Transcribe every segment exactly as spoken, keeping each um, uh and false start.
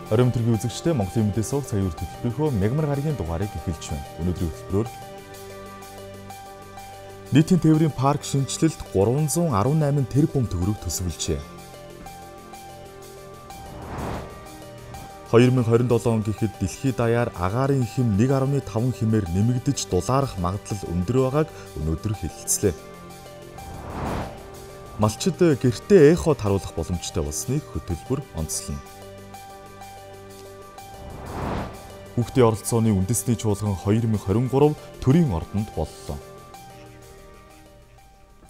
Оройн өдрийн үзэгчдээ Монголын мэдээ сувг цагийн үр хөтөлбөрийнхөө мягмар гарагийн дугаарыг эхэлж байна. Өнөөдрийн хөтөлбөрөөр нийтийн тээврийн парк шинжилэлт гурван зуун арван найман тэрбум төгрөг төсөвлөжээ. хоёр мың хорин долоо он гэхэд дэлхийд даяар агаарын хэм нэг гаруй таван хэмээр нэмэгдэж дулаарах магадлал өндөр байгааг өнөөдөр хэлэлцлээ. Малчид гэртээ эход харуулах боломжтой болсныг хөтөлбөр онцлно. Хүүхдийн оролцооны үндэсний чуулган хоёр мың хорин гурав төрийн ордонд боллоо.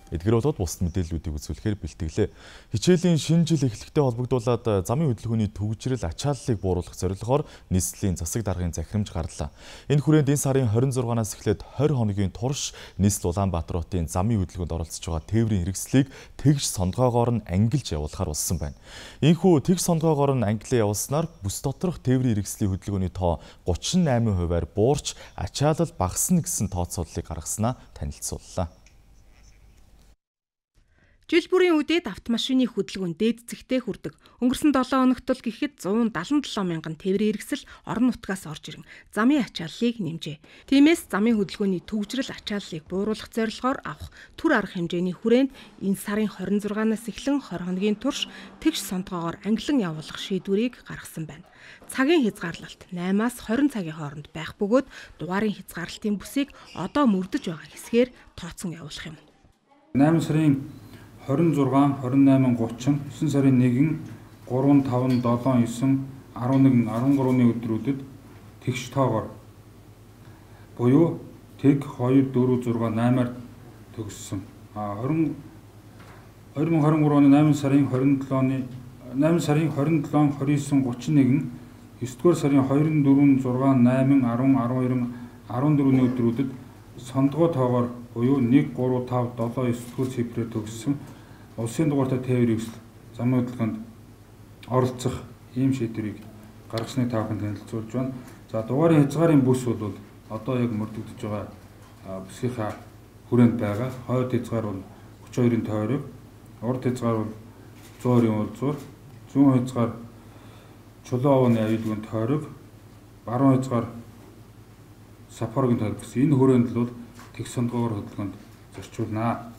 Эдгээр болоод бусад мэдээллүүдийг үзүүлэхээр бэлтгэлээ. Хичээлийн шинэ жил эхлэхтэй холбогдуулаад замын хөдөлгөөний төвөгжрөл ачааллыг бууруулах зорилгоор нийслэлийн засаг даргын захирамж гарлаа. Энэ хүрээнд энэ сарын хорин зургаанаас эхлээд хорь хоногийн турш нийслэл Улаанбаатар хотын замын хөдөлгөөнд оролцож байгаа тээврийн хэрэгслийг тэгш сондгоогоор нь ангилж явуулахар болсон байна. Ийхүү тэгш сондгоогоор нь ангилан явуулснаар бүс доторх тээврийн хэрэгслийн хөдөлгөөний тоо гучин найман хувиар буурч ачаалал багасна гэсэн тооцооллыг гаргаснаа танилцууллаа. Жил бүрийн үдээд автомашины хөдөлгөөн дээд зэгтээ хүрдэг. Өнгөрсөн долоон хоногт л гэхэд зуун далан долоо мянган тээврийн хэрэгсэл орон нутгаас орж ирэн замын ачааллыг нэмжээ. Тиймээс замын хөдөлгөөний төвөгжрөл ачааллыг бууруулах зорилгоор авах түр арга хэмжээний хүрээнд энэ сарын хорин зургаанаас эхлэн хорь хоногийн турш тэгш сондгоогоор ангилан явуулах шийдвэрийг гаргасан байна. Цагийн хязгаарлалт наймаас хорин цагийн хооронд байх бөгөөд дугаарын хязгаарлалтын бүсийг одоо мөрдөж байгаа хэсгээр тооцсон явуулах юм. найман сарын хорин зургаан, хорин найман, гучин, есөн сарын нэгэн, гурван, таван, долоон, есөн, арван нэгэн, арван гурваны өдрүүдэд тэгш тоогоор буюу тэг хоёр, дөрөв, зургаан, наймаар төгссөн. А хоёр мың хорин гурав оны найман сарын хорин долооны найман сарын хорин долоо, хорин есөн, гучин нэгэн, есдүгээр сарын хоёр, дөрөв, зургаан, найман, арван, арван хоёр, арван дөрвөний өдрүүдэд сондгоо тоогоор буюу нэг, гурав, тав, долоо, есдүгээр цифрээр төгссөн улсын дугаартай тээврийн хэрэгсэл замын хөдөлгөөнд оролцох ийм шийдвэрийг гаргасны тааханд танилцуулж байна. За дугаарын хязгаарын бүс бол одоо яг мөрдөгдөж байгаа бүсгийнхаа хүрээнд байгаа. Хойд хязгаар бол хүч хоёрын тойрог, урд хязгаар бол зуун хоёрын уулзуур, зүүн хязгаар чулуу овооны аюулгүйн тойрог, баруун хязгаар сапорогийн тойрог гэсэн энэ хүрээнд л тэгш сондгоогоор хөдөлгөөнд зорчуулнаа.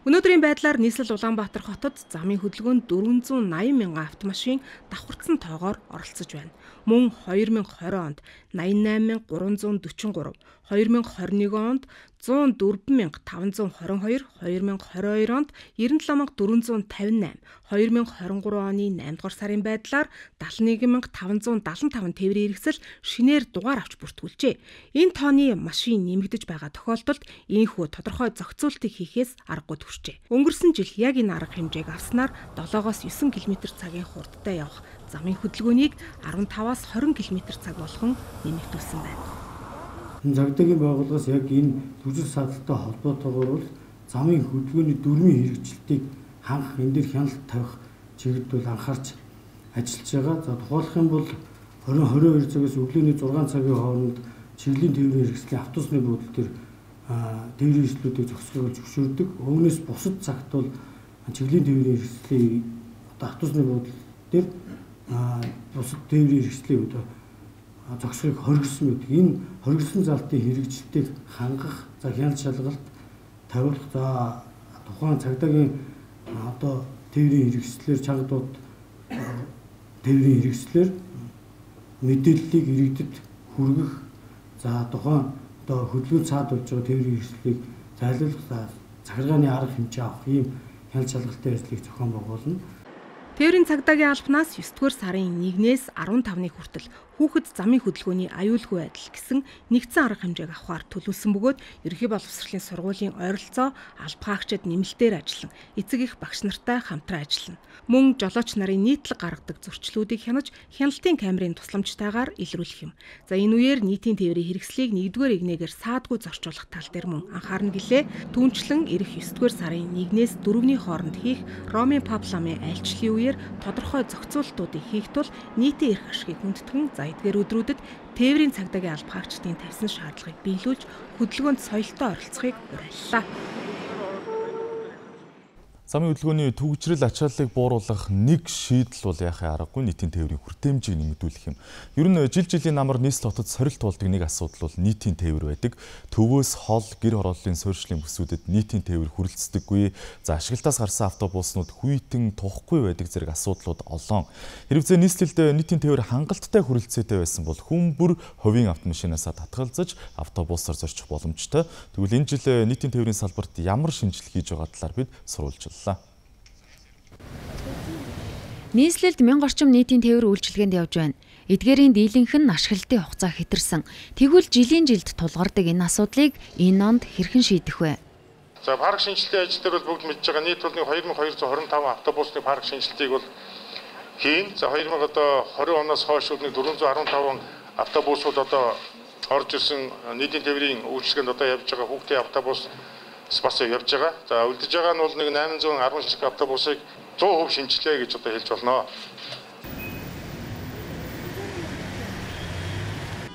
Өнөөдрийн байдлаар нийслэл Улаанбаатар хотод замын хөдөлгөөнд дөрвөн зуун найман мянган автомашин давхарцсан тоогоор оролцож байна. Мөн хоёр мың хорин онд найман найман мянга гурван зуун дөрвөн гурав, хоёр мың хорин нэгэн онд зуун дөрвөн мянга таван зуун хорин хоёр, хоёр мың хорин хоёр онд ерөн долоо мянга дөрвөн зуун тавин найм, хоёр мың хорин гурав оны найман дугаар сарын байдлаар далайн нэг мянга таван зуун далан таван тээврийн хэрэгсэл шинээр дугаар авч бүртгүүлжээ. Энэ тооны машин нэмэгдэж байгаа тохиолдолд ийхүү тодорхой зохицуултыг хийхээс аргагүй төржээ. Өнгөрсөн жил яг энэ арга хэмжээг авснаар долоогоос есөн км цагийн хурдтай явах замын хөдөлгөөнийг арван таваас хорин км цаг болгон нэмэгдүүлсэн байна. Цагдаагийн байгууллагаас яг энэ түжил сааталтай холбоотойгоор бол замын хөдөлгөөний дөрмийн хэрэгжилтийг хангах, энэ дээр хяналт тавих чиглэлд бол анхаарч ажиллаж байгаа. За тухайлах юм бол хорин хорин хоёр цагаас өглөөний зургаан цагийн хооронд чиглэлийн тээврийн хэрэгслийн автобусны буудлын дээр тээврийн хэрэгслүүдийг зохицохыг зөвшөөрдөг. Өмнөөс бусад цагт бол чиглэлийн тээврийн хэрэгслийн одоо автобусны буудлын дээр бусад тээврийн хэрэгслийн одоо зогсохыг хоригдсон байдаг. Энэ хоригдсон залтын хэрэгжилтийг хангах, за хяналт шалгалт тавиулах, за тухайн цагдаагийн одоо тээврийн хэрэгслээр чангадууд тээврийн хэрэгслээр мэдээллийг иргэдэд хүргэх, за тухайн одоо хөдөлгөөн цаад болж байгаа тээврийн хэрэгслийг зайлуулах, захиргааны арга хэмжээ авах ийм хяналт шалгалтын ажлыг зохион байгуулна. Тээврийн цагдаагийн албанаас есдүгээр сарын нэгнээс арван тавны хүртэл хүүхэд замын хөдөлгөөний аюулгүй байдал гэсэн нэгдсэн арга хэмжээг авахар төлөвлөсөн бөгөөд ерөнхий боловсролын сургуулийн ойролцоо албахаагчид нэмэлтээр ажиллан эцэг их багш нартай хамтран ажиллана. Мөн жолооч нарын нийтлэг гаргадаг зөрчлүүдийг хянаж хяналтын камерын тусламжтайгаар илрүүлэх юм. За энэ үеэр нийтийн тээврийн хэрэгслийг нэгдүгээр игнээгээр саадгүй зорчуулах тал дээр мөн анхаарна гэлээ. Түүнчлэн ирэх есдүгээр сарын нэгнээс дөрөвний хооронд хийх Ромын паб ламын айлчлалын үеэр тодорхой зохицуултуудыг хийх тул нийтийн эрх ашигыг хүндэтгэн за эдгээр өдрүүдэд тээврийн цагдаагийн албахаагчдын тавьсан шаардлагыг биелүүлж хөдөлгөөнд соёлтой оролцохыг уриаллаа. Замын хөдөлгөөний төвөгжрөл ачааллыг бууруулах нэг шийдэл бол яхаа аргагүй нийтийн тээврийн хүртээмжийг нэмэгдүүлэх юм. Ер нь жил жилийн намар нийслэл хотод сорилт болдог нэг асуудал бол нийтийн тээвэр байдаг. Төвөөс хол гэр хорооллын суурьшлийн бүсүүдэд нийтийн тээвэр хүрэлцдэггүй. За ашиглалтаас гарсан автобуснууд хүйтэн тухгүй байдаг зэрэг асуудлууд олон. Хэрвээ нийслэлд нийтийн тээвэр хангалттай хүрэлцээтэй байсан бол хүн бүр хувийн автомашинаас татгалзаж автобусаар зорчих боломжтой. Тэгвэл энэ жил нийтийн тээврийн салбарт ямар шинжилгээ хийж байгаа талаар бид сурвалжлаа. Нийслэлд мянга орчим нийтийн тээвэр үйлчилгээнд явж байна. Эдгээрийн дийлэнх нь ашиглалтын хугацаа хэтэрсэн. Тэгвэл жилийн жилд тулгардаг энэ асуудлыг энэ онд хэрхэн шийдэх вэ? За парк шинжилгээ ажил дээр бол бүгд мэдж байгаа нийт болны two thousand two hundred twenty-five автобусны парк шинжилгээг бол хийн. За two thousand twenty оноос хойш four hundred fifteen автобусууд одоо орж ирсэн нийтийн тээврийн үйлчилгээнд одоо явж байгаа хүүхдийн автобус бас явж байгаа. За үлдэж байгаа нь бол нэг eight hundred ten шиг автобусыг one hundred percent шинжилгээ гэж одоо хэлж болно.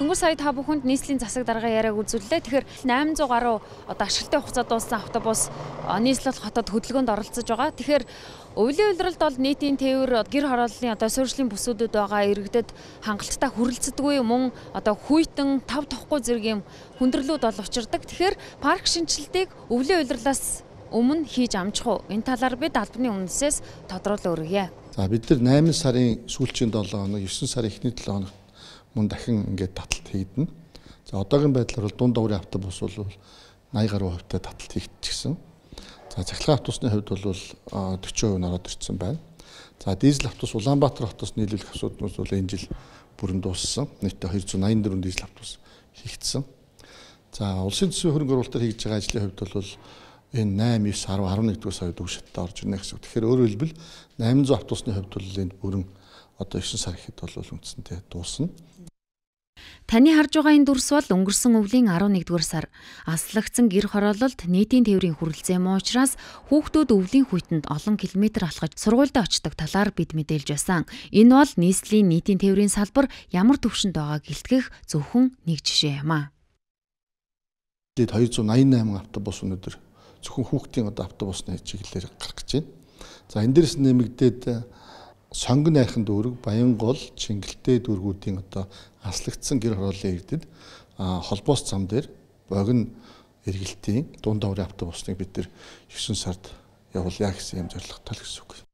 Дөнгөж сая та бүхэнд нийслэлийн засаг дарга яриаг үзүүллээ. Тэгэхээр eight hundred гаруй одоо ашиглалтын хугацаа дууссан автобус нийслэл хотод хөдөлгөөнд оролцож байгаа. Тэгэхээр өвлийн улиралд бол нийтийн тээвэр гэр хорооллын одоо суурьшлийн бүсүүдэд байгаа иргэдэд хангалттай хүрэлцдэггүй мөн одоо хүйтэн тав тохгүй зэрэг юм хүндрэлүүд бол учирдаг. Тэгэхээр парк шинжилгээг өвлийн улирлаас өмнө хийж амжих уу? Энэ талаар бид албаны үндэсээс тодруулан өргөе. За бид нар eight сарын сүүлчийн seven хоног, nine сарын эхний seven хоногт мөн дахин ингээд таталт хийгдэнэ. За одоогийн байдлаар бол дунд даврын автобус бол eighty гаруй хувьтай таталт хийгдчихсэн. За цахилгаан автобусны хувьд бол forty percent ороод ирсэн байна. За дизель автобус Улаанбаатар хотоос нийлүүлэх асуудлууд бол энэ жил бүрэн дууссан. Нийтдээ two hundred ninety-four дизель автобус хийгдсэн. За улсын төсвийн хөрөнгө оруулалтаар хийж байгаа ажлын хувьд бол энэ nine, nine, ten, eleven дугаар сарын өг шаттай орж ирнэ гэсэн үг. Тэгэхээр өөрөөр хэлбэл eight hundred автобусны хувьд бол энд бүрэн одоо nine сар ихэд бол үндсэндээ дуусна. Таны харж байгаа энэ дүрс бол өнгөрсөн өвлийн eleven дугаар сар аслагдсан гэр хороололд нийтийн тээврийн хүрэлцээ муу учраас хүүхдүүд өвлийн хүйтэнд олон километр алхаж сургуульд очдог талаар бид мэдээлж байсан. Энэ бол нийслэлийн нийтийн тээврийн салбар ямар төвшөнд байгааг илтгэх зөвхөн нэг жишээ юм аа. two hundred ninety-eight автобус өнөөдөр зөвхөн хүүхдийн одоо автобусны чиглэлээр гарах гэж байна. За энэ дээрс нэмэгдээд сонгон найрхан дүүрэг, Баянгол, Чингэлтэй дүүргүүдийн одоо аслагдсан гэр хорооллын иргэдэд холбоос зам дээр богино эргэлтийн дунд даврын автобусныг бид нэр nine сард явуулъя гэсэн юм зорилготой л гэсэн үг.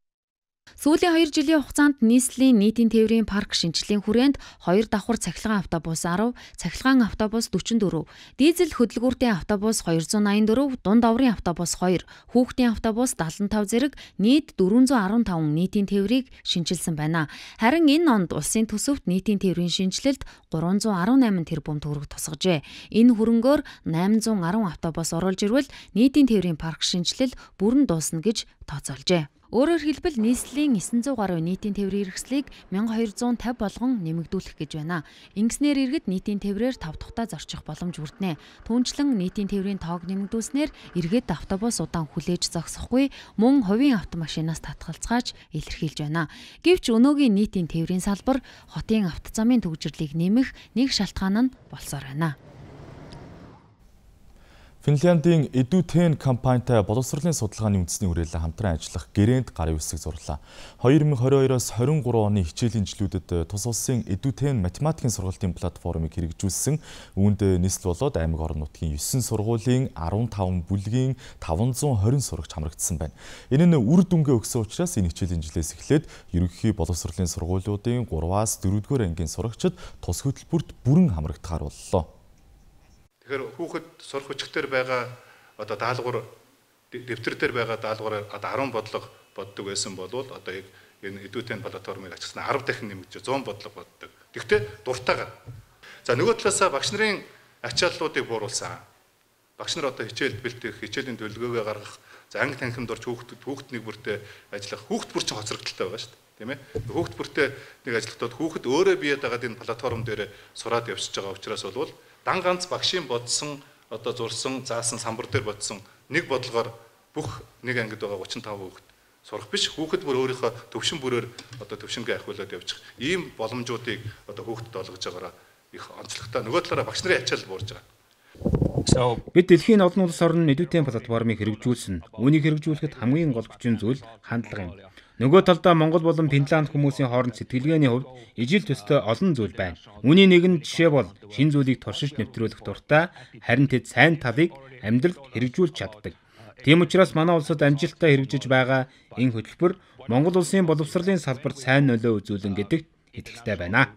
Сүүлийн two жилийн хугацаанд нийслэлийн нийтийн тээврийн парк шинжилгээний хүрээнд two давхар цахилгаан автобус ten, цахилгаан автобус forty-four, дизель хөдөлгүүртэй автобус two hundred ninety-four, дунд даврын автобус two, хүүхдийн автобус seventy-five зэрэг нийт four hundred fifteen нийтийн тээврийг шинжилсэн байна. Харин энэ онд улсын төсөвт нийтийн тээврийн шинжилэлд three hundred eighteen тэрбум төгрөг тусгажээ. Энэ хөрөнгөөр eight hundred ten автобус оруулж ирвэл нийтийн тээврийн парк шинжилэл бүрэн дуусна гэж тооцоолжээ. Өөрөөр хэлбэл нийслэлийн nine hundred гаруй нийтийн тээврийн хэрэгслийг twelve fifty болгон нэмэгдүүлэх гэж байна. Ингэснээр иргэд нийтийн тээврээр тав тухтаа зорчих боломж бүрднэ. Түүнчлэн нийтийн тээврийн тоог нэмэгдүүлснээр иргэд автобус удаан хүлээж зогсохгүй мөн хувийн автомашинаас татгалзгааж илэрхийлж байна. Гэвч өнөөгийн нийтийн тээврийн салбар хотын автозамын төвөгжрлийг нэмэх нэг шалтгаан нь болсоор байна. Финляндийн Eduten компанитай боловсролын судалгааны үндэсний хүрээлэн хамтран ажиллах гэрээнд гарын үсэг зурлаа. twenty twenty-two-оос twenty-three оны хичээлийн жилүүдэд тус улсын Eduten математикийн сургалтын платформыг хэрэгжүүлсэн. Үүнд нийслэл болоод аймаг орон нутгийн nine сургуулийн fifteen бүлгийн five hundred twenty сурагч хамрагдсан байна. Энэ нь үр дүнгээ өгсөн учраас энэ хичээлийн жилээс эхлээд ерөнхий боловсролын сургуулиудын three-аас four дугаар ангийн сурагчид тус хөтөлбөрт бүрэн хамрагдахаар боллоо. Тэгэхээр хүүхэд сурах хүчтэй байгаа одоо даалгавар дэвтэр дээр байгаа даалгавар одоо ten бодлого боддог байсан бол одоо яг энэ Eduten платформыг ачсан ten дахин нэмэгдэж one hundred бодлого боддог. Тэгвэл дуртайгаар. За нөгөө талаасаа багш нарын ачааллуудыг бууруулсан. Багш нар одоо хичээл бэлтгэх, хичээлийн төлөвлөгөөгөө гаргах, за анги танхимд орж хүүхэд хүүхэд нэг бүртээ ажиллах, хүүхэд бүр чинь хоцрогдолтой байгаа шүү дээ. Тийм ээ. Хүүхэд бүртээ нэг ажиллахдаа хүүхэд өөрөө биед байгаа энэ платформ дээр сураад явж байгаа учраас бол дан ганц багшийн бодсон одоо зурсан заасан самбар дээр бодсон нэг бодлогоор бүх нэг ангид байгаа thirty-five хүүхэд сурах биш хүүхэд бүр өөрийнхөө төвшин бүрээр одоо төвшингээ ахиулаад явчих ийм боломжуудыг одоо хүүхдэд олгож байгаараа их онцлогтой нөгөө талаараа багш нарын ачаал буурж байгаа. Бид дэлхийн олон улс орн нэдвэтийн платформыг хэрэгжүүлсэн. Үүнийг хэрэгжүүлэхэд хамгийн гол хүчин зүйл хандлага юм. Нөгөө талдаа Монгол болон Финланд хүмүүсийн хооронд сэтгэлгээний хувьд ижил төстэй олон зүйл байна. Үүний нэгэн жишээ бол шин зүйлийг туршиж нэвтрүүлэх дуртай, харин тэд сайн талыг амьдралд хэрэгжүүлж чаддаг. Тийм учраас манай улсад амжилттай хэрэгжиж байгаа энэ хөтөлбөр Монгол улсын боловсролын салбарт сайн нөлөө үзүүлэн гэдэгт итгэлтэй байна.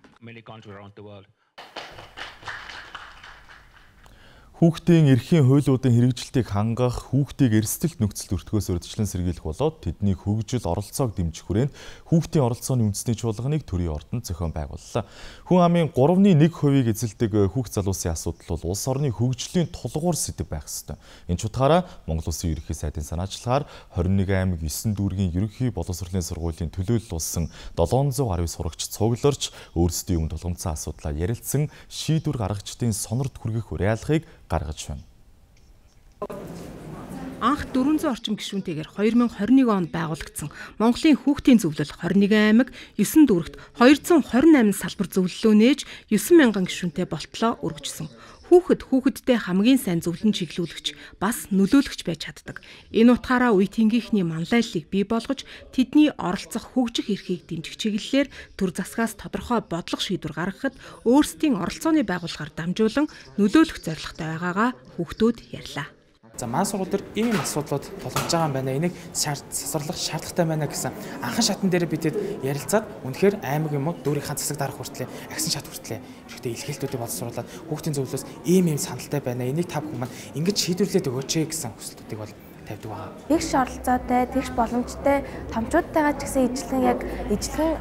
Хүүхдийн эрхийн хуйлуудын хэрэгжилтийг хангах, хүүхдийг эрсдэлт нөхцөлд өртгөөс урьдчилан сэргийлэх болоод тэдний хөгжил оролцоог дэмжих хүрээнд хүүхдийн оролцооны үндэсний чуулганыг төрийн ордонд зохион байгууллаа. Хүн амын гуравны нэг хувийг эзэлдэг хүүхд залуусын асуудал бол улс орны хөгжлийн тулгуур сэдэв байх ёстой. Энэ чухаараа Монгол Улсын ерөнхий сайдын санаачлагаар хорин нэг аймаг есөн дүүргийн ерөнхий боловсролын сургуулийн төлөөлөл болсон долоон зуун гаруй сурагч цугларч өөрсдийн өмнө тулгамдсан асуудлаа ярилцсан шийдвэр гаргагчдын сонорт хүргэх уриалгыг гаргаж байна. Анх дөрвөн зуун орчим гишүүнтэйгээр хоёр мянга хорин нэг онд байгуулагдсан Монголын хүүхдийн зөвлөл хорин нэг аймаг есөн дүүрэгт хоёр зуун хорин восемь салбар зөвлөлөө нээж девять мянган гишүүнтэй болтлоо өргөжсөн. Хүүхэд хүүхэдтэй хамгийн сайн зөвлөн чиглүүлэгч бас нөлөөлөгч байж чаддаг. Энэ утгаараа үе тэнгийнхний манлайллыг бий болгож тэдний оролцох хөгжих эрхийг дэмжих чиглэлээр төр засгаас тодорхой бодлого шийдвэр гаргахад өөрсдийн оролцооны байгууллагаар дамжуулан нөлөөлөх зорилготой байгаагаа хүүхдүүд ярьлаа. За маань сургууль дээр ийм юм асуудлууд тулгарч байгаа юм байна. Энийг засварлах шаардлагатай байна гэсэн анхан шатн дээр бидэд ярилцаад үнэхээр аймаг юм уу дүүрийнхаа засаг дарга хүртлээ, агсан шат хүртлээ ирэхдээ илэрхийлтүүдийг боловсруулад хүүхдийн зөвлөлөөс ийм ийм саналтай байна. Энийг та бүхэн маань ингэж шийдвэрлээд өгөөч гэсэн хүсэлтүүдийг бол тавьдаг байгаа. Тэгш оролцоотой, тэгш боломжтой томчуудтайгаа ч гэсэн ижлэн яг ижлэн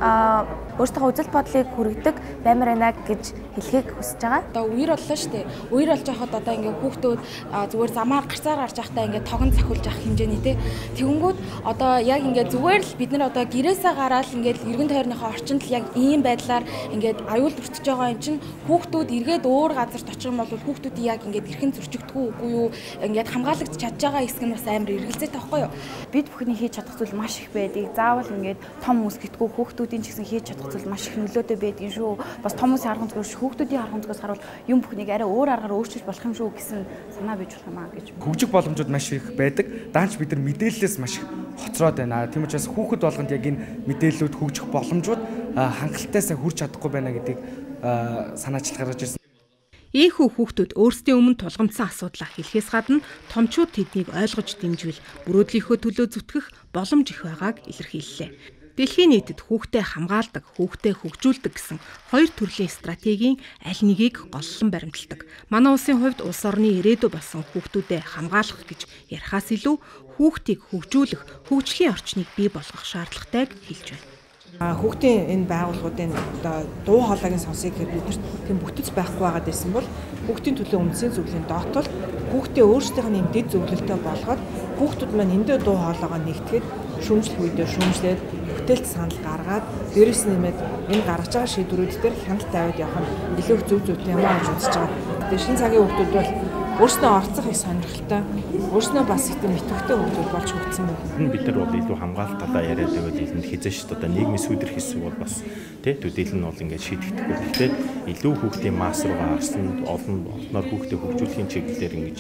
өөрсдөө үзэл бодлыг хүргэдэг баймар байна гэж хэлхийг хүсэж байгаа. Одоо үер боллоо шүү дээ. Үер болж байхад одоо ингээд хүүхдүүд зүгээр замаар гарцаар гарч байхдаа ингээд тогон цахиулж авах хэмжээний те. Тэгэнгүүт одоо яг ингээд зүгээр л бид нар одоо гэрээсээ гараад ингээд эргэн тойрныхоо орчинд л яг ийм байдлаар ингээд аюул өртөж байгаа юм чинь хүүхдүүд эргээд өөр газарт очих юм бол хүүхдүүдийн яг ингээд эрхэн зөрчигдөггүй үгүй юу ингээд хамгаалагдж чадж байгаа хэсэг нь бас амар эргэлзээ таахгүй юу. Бид бүхний хийж чадах зүйл маш их байдаг. Заавал ингээд том хүмүүс гэтгүй хүүхдүүдийн ч гэсэн хийж чадах зүйл маш их нөлөөтэй байдаг шүү. Бас том хүмүүсийн арга зүйс хүүхдүүдийн арга зүйс харуул юм бүхнийг арай өөр аргаар өөрчилж болох юм шүү гэсэн санаа бий болох юм аа гэж. Хөгжих боломжууд маш их байдаг. Даанч бид нар мэдээлэлээс маш их хоцроод байна. Тийм учраас хүүхэд болгонд яг энэ мэдээллүүд хөгжих боломжууд хангалттай сайн хүрч чадахгүй байна гэдгийг санаачлах гаргаж ирсэн. Ийхүү хүүхдүүд өөрсдийн өмнө тулгамдсан асуудлаа хэлэхээс гадна томчууд тэднийг ойлгож дэмжвэл бүрөөдлийнхөө төлөө зүтгэх боломж их байгааг илэрхийллээ. Дэлхийн нийтэд хүүхдэд хамгаалдаг, хүүхдэд хөгжүүлдэг гэсэн хоёр төрлийн стратегийн аль нэгийг голлон баримталдаг. Манай улсын хувьд улс орны ирээдүй болсон хүүхдүүдэд хамгаалах гэж ярихаас илүү хүүхдийг хөгжүүлэх, хөгжлийн орчныг бий болгох шаардлагатайг хэлж байна. Хүүхдийн энэ байгууллагуудын одоо дуу хоолойг сонсъё гэхэд биднэрт тийм бүтэц байхгүй байгаад байсан бол хүүхдийн төлөө үндсийн зөвлөлийн доотол хүүхдээ өөрсдийнх нь дэд зөвлөлтөй болгоод хүүхдүүд маань эндээ дуу хоолойгоо нэгтгэхэд шүүмжлэх үедээ шүүмжлээд бүтээлт санал гаргаад дээрээс нэмээд энэ гаргаж байгаа шийдвэрүүд дээр хяналт тавиад явах нь илүү зөв зүйтэй юм аа гэж үзэж байгаа. Тэгээ шинэ цагийн хүүхдүүд бол өөрснөө оролцох их сонирхолтой, өөрснөө бас их тийм итгэвчтэй хүмүүс болж хөгжсөн байна. Бид нар бол илүү хамгаалалт талаа яриад байвал илэнд хязээ шүү дээ. Одоо нийгмийн сүудэр хийсэн бол бас тий төдийл нь бол ингээд шийдэгдэхгүй. Гэхдээ илүү хүүхдийн масс руугаа харсан олон олноор хүүхдээ хөгжүүлэхийн чиглэлээр ингэж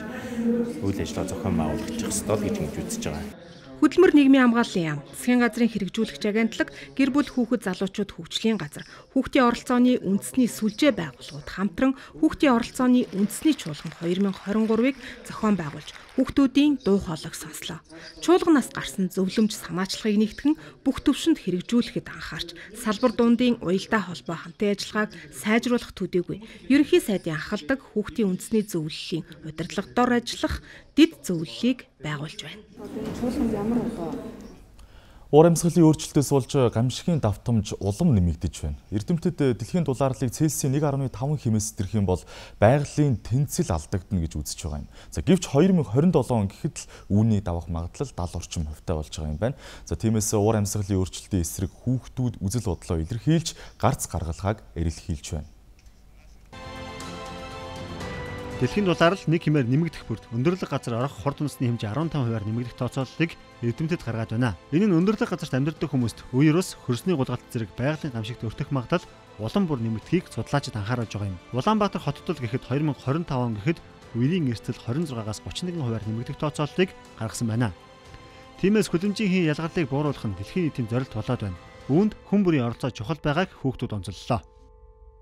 үйл ажиллагаа зохион байгуулах хэрэгтэй гэж ингэж үзэж байгаа. Хөдөлмөр нийгмийн хамгааллын яам, засгийн газрын хэрэгжүүлэгч агентлаг, гэр бүл хүүхэд залуучууд хөгжлийн газар, хүүхдийн оролцооны үндэсний сүлжээ байгууллагууд хамтран хүүхдийн оролцооны үндэсний чуулган хоёр мянга хорин гурвыг зохион байгуулж хүүхдүүдийн дуу хоолойг сонслоо. Чуулганаас гарсан зөвлөмж санаачлагыг нэгтгэн бүх төвшөнд хэрэгжүүлэхэд анхаарч салбар дундын уялдаа холбоо хамтын ажиллагааг сайжруулах төдийгүй ерөнхий сайдын анхалдаг хүүхдийн үндэсний зөвлөлийн удирдлага дор ажиллах дэд зөвлөлийг байгуулж байна. Чуулганд ямар одоо Уур амьсгалын өөрчлөлтөөс болж гамшигын давтамж улам нэмэгдэж байна. Эрдэмтэд дэлхийн дулаарлыг Цельсийн нэг дасам таван хэмээс дэрх юм бол байгалийн тэнцэл алдагдана гэж үзэж байгаа юм. За гэвч хоёр мянга хорин долоо он гэхэд л үүний давах магадлал дагаад орчим хувьтай болж байгаа юм байна. За тиймээс уур амьсгалын өөрчлөлтийн эсрэг хүүхдүүд үзэл бодлоо илэрхийлж гарц гаргалгааг эрэлхийлж байна. Дэлхийн дулаалал нэг хэмээр нэмэгдэх бүрд өндөрлөг газар орох хурд үндэсний хэмжээ арван таван хувиар нэмэгдэх тооцооллыг эрдэмтэд гаргаад байна. Энэ нь өндөрлөг газарт амьдардаг хүмүүст үеэрс хөрсний гулгалт зэрэг байгалийн гамшигт өртөх магадлал улам бүр нэмэгдэхийг судлаачид анхааруулж байгаа юм. Улаанбаатар хотод л гэхэд хоёр мянга хорин таван он гэхэд үерийн эрсдэл хорин зургаагаас гучин нэгэн хувиар нэмэгдэх тооцооллыг гаргасан байна. Тиймээс хөдөлмжийн ялгарлыг бууруулах нь дэлхийн нийтийн зорилт болоод байна. Үүнд хүн бүрийн оролцоо чухал байгааг хүүхдүүд онцоллоо.